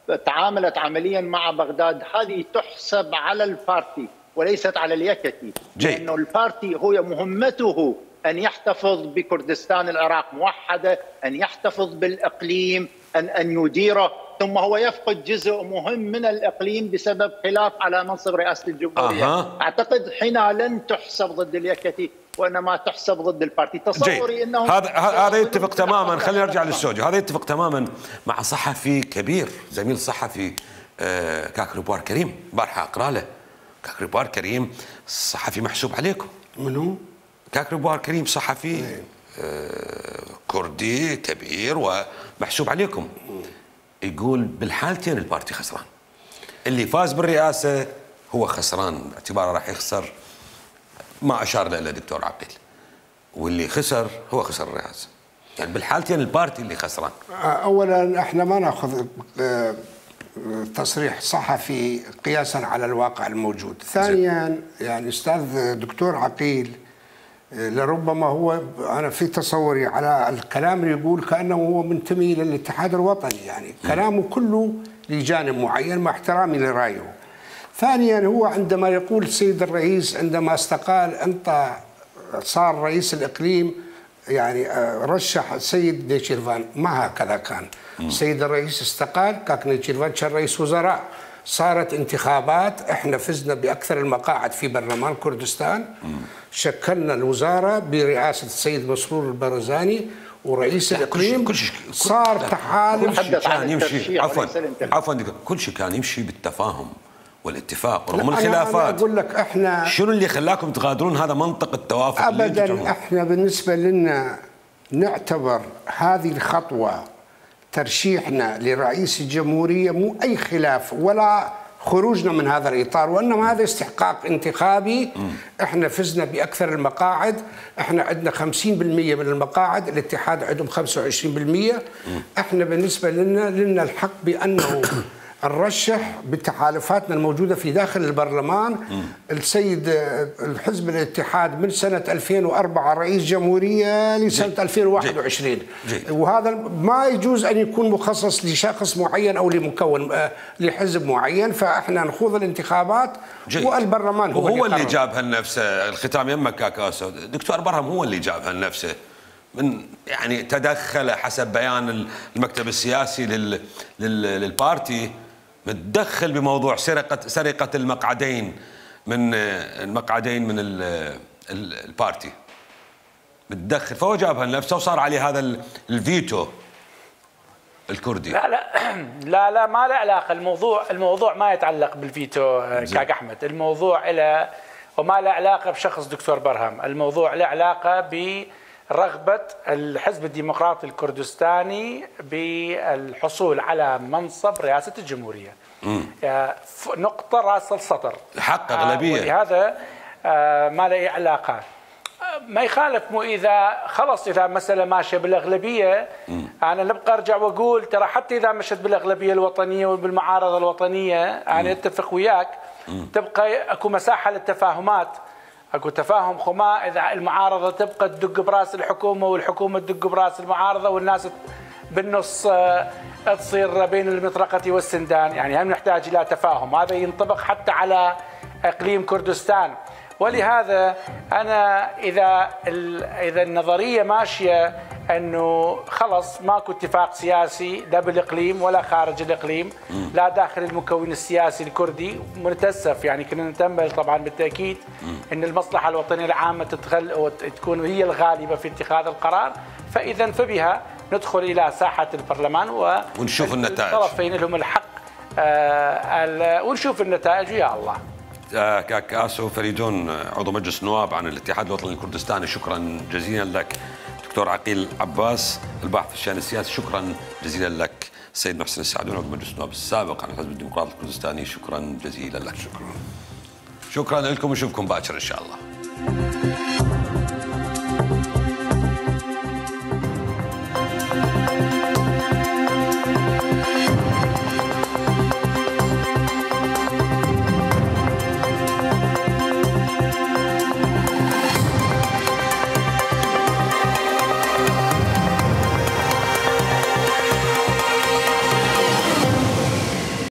وتعاملت عمليا مع بغداد، هذه تحسب على البارتي وليست على اليكتي، لأنه البارتي هو مهمته أن يحتفظ بكردستان العراق موحدة، أن يحتفظ بالإقليم، أن أن يديره، ثم هو يفقد جزء مهم من الإقليم بسبب خلاف على منصب رئاسة الجمهورية. أه. أعتقد حينها لن تحسب ضد اليكتي وإنما تحسب ضد البارتي. تصوري أنه هذا هذا يتفق تماما. خلينا نرجع للسوجي. هذا يتفق تماما مع صحفي كبير، زميل صحفي آه كاك ربوار كريم، بارحة أقرأ له كاك ربوار كريم صحفي محسوب عليكم. منو؟ كاك ربوار كريم صحفي آه كردي كبير ومحسوب عليكم. يقول بالحالتين البارتي خسران، اللي فاز بالرئاسة هو خسران باعتباره راح يخسر ما أشار له دكتور عقيل، واللي خسر هو خسر الرئاسة. يعني بالحالتين البارتي اللي خسران. أولا احنا ما ناخذ تصريح صحفي قياسا على الواقع الموجود. ثانيا يعني أستاذ دكتور عقيل لربما هو، أنا في تصوري على الكلام اللي يقول كأنه هو منتمي للاتحاد الوطني، يعني كلامه كله لجانب معين مع احترامي لرأيه. ثانيا هو عندما يقول السيد الرئيس عندما استقال أنت صار رئيس الإقليم يعني رشح السيد نيتشيرفان، ما هكذا كان. السيد الرئيس استقال، كاك نيتشيرفان كان رئيس وزراء، صارت انتخابات، احنا فزنا بأكثر المقاعد في برلمان كردستان، شكلنا الوزارة برئاسة السيد مسرور البرزاني ورئيس الإقليم، كل شيء صار تحالف كل شيء كان يمشي عفوا عفوا كل شيء كان يمشي بالتفاهم والاتفاق رغم الخلافات. أنا أقول لك احنا شنو اللي خلاكم تغادرون هذا منطق التوافق؟ ابدا احنا بالنسبه لنا نعتبر هذه الخطوه ترشيحنا لرئيس الجمهوريه مو اي خلاف ولا خروجنا من هذا الاطار، وانما هذا استحقاق انتخابي. م. احنا فزنا باكثر المقاعد، احنا عندنا خمسين بالمئة من المقاعد، الاتحاد عندهم خمسة وعشرين بالمئة. م. احنا بالنسبه لنا لنا الحق بانه نرشح بتحالفاتنا الموجودة في داخل البرلمان. م. السيد الحزب الاتحاد من سنة ألفين وأربعة رئيس جمهورية لسنة جي. ألفين وواحد وعشرين، جي. جي. وهذا ما يجوز أن يكون مخصص لشخص معين أو لمكون لحزب معين، فإحنا نخوض الانتخابات جي. والبرلمان هو, هو اللي جابها لنفسه. الختام يمك كاكاسو، دكتور برهم هو اللي جابها لنفسه، من يعني تدخل حسب بيان المكتب السياسي لل لل للبارتي، متدخل بموضوع سرقة سرقة المقعدين من المقعدين من البارتي، متدخل، فهو جابها لنفسه وصار عليه هذا الفيتو الكردي. لا لا لا لا ما له علاقة. الموضوع الموضوع ما يتعلق بالفيتو كاك أحمد، الموضوع له وما له علاقة بشخص دكتور برهم، الموضوع له علاقة ب رغبة الحزب الديمقراطي الكردستاني بالحصول على منصب رئاسة الجمهورية. نقطة رأس السطر، حق أغلبية، ولهذا ما له علاقة. ما يخالف مو إذا خلص إذا مسألة ماشية بالأغلبية، أنا نبقى أرجع وأقول ترى حتى إذا مشت بالأغلبية الوطنية وبالمعارضة الوطنية أنا أتفق وياك، تبقى أكو مساحة للتفاهمات، اكو تفاهم خما. اذا المعارضه تبقى تدق براس الحكومه والحكومه تدق براس المعارضه والناس بالنص تصير بين المطرقه والسندان، يعني هم نحتاج الى تفاهم. هذا ينطبق حتى على اقليم كردستان. ولهذا انا اذا اذا النظريه ماشيه انه خلص ماكو اتفاق سياسي لا بالاقليم ولا خارج الاقليم، لا داخل المكون السياسي الكردي، ونتاسف يعني كنا نتامل طبعا بالتاكيد ان المصلحه الوطنيه العامه تتغل وتكون هي الغالبه في اتخاذ القرار، فاذا فبها ندخل الى ساحه البرلمان ونشوف النتائج، الطرفين لهم الحق آه ونشوف النتائج ويا الله. كاك آسو فريدون عضو مجلس النواب عن الاتحاد الوطني الكردستاني، شكرا جزيلا لك. دكتور عقيل عباس الباحث في الشأن السياسي، شكرا جزيلا لك. السيد محسن السعدون عضو مجلس النواب السابق عن الحزب الديمقراطي الكردستاني، شكرا جزيلا لك. شكرا. شكرا لكم ونشوفكم باكر ان شاء الله.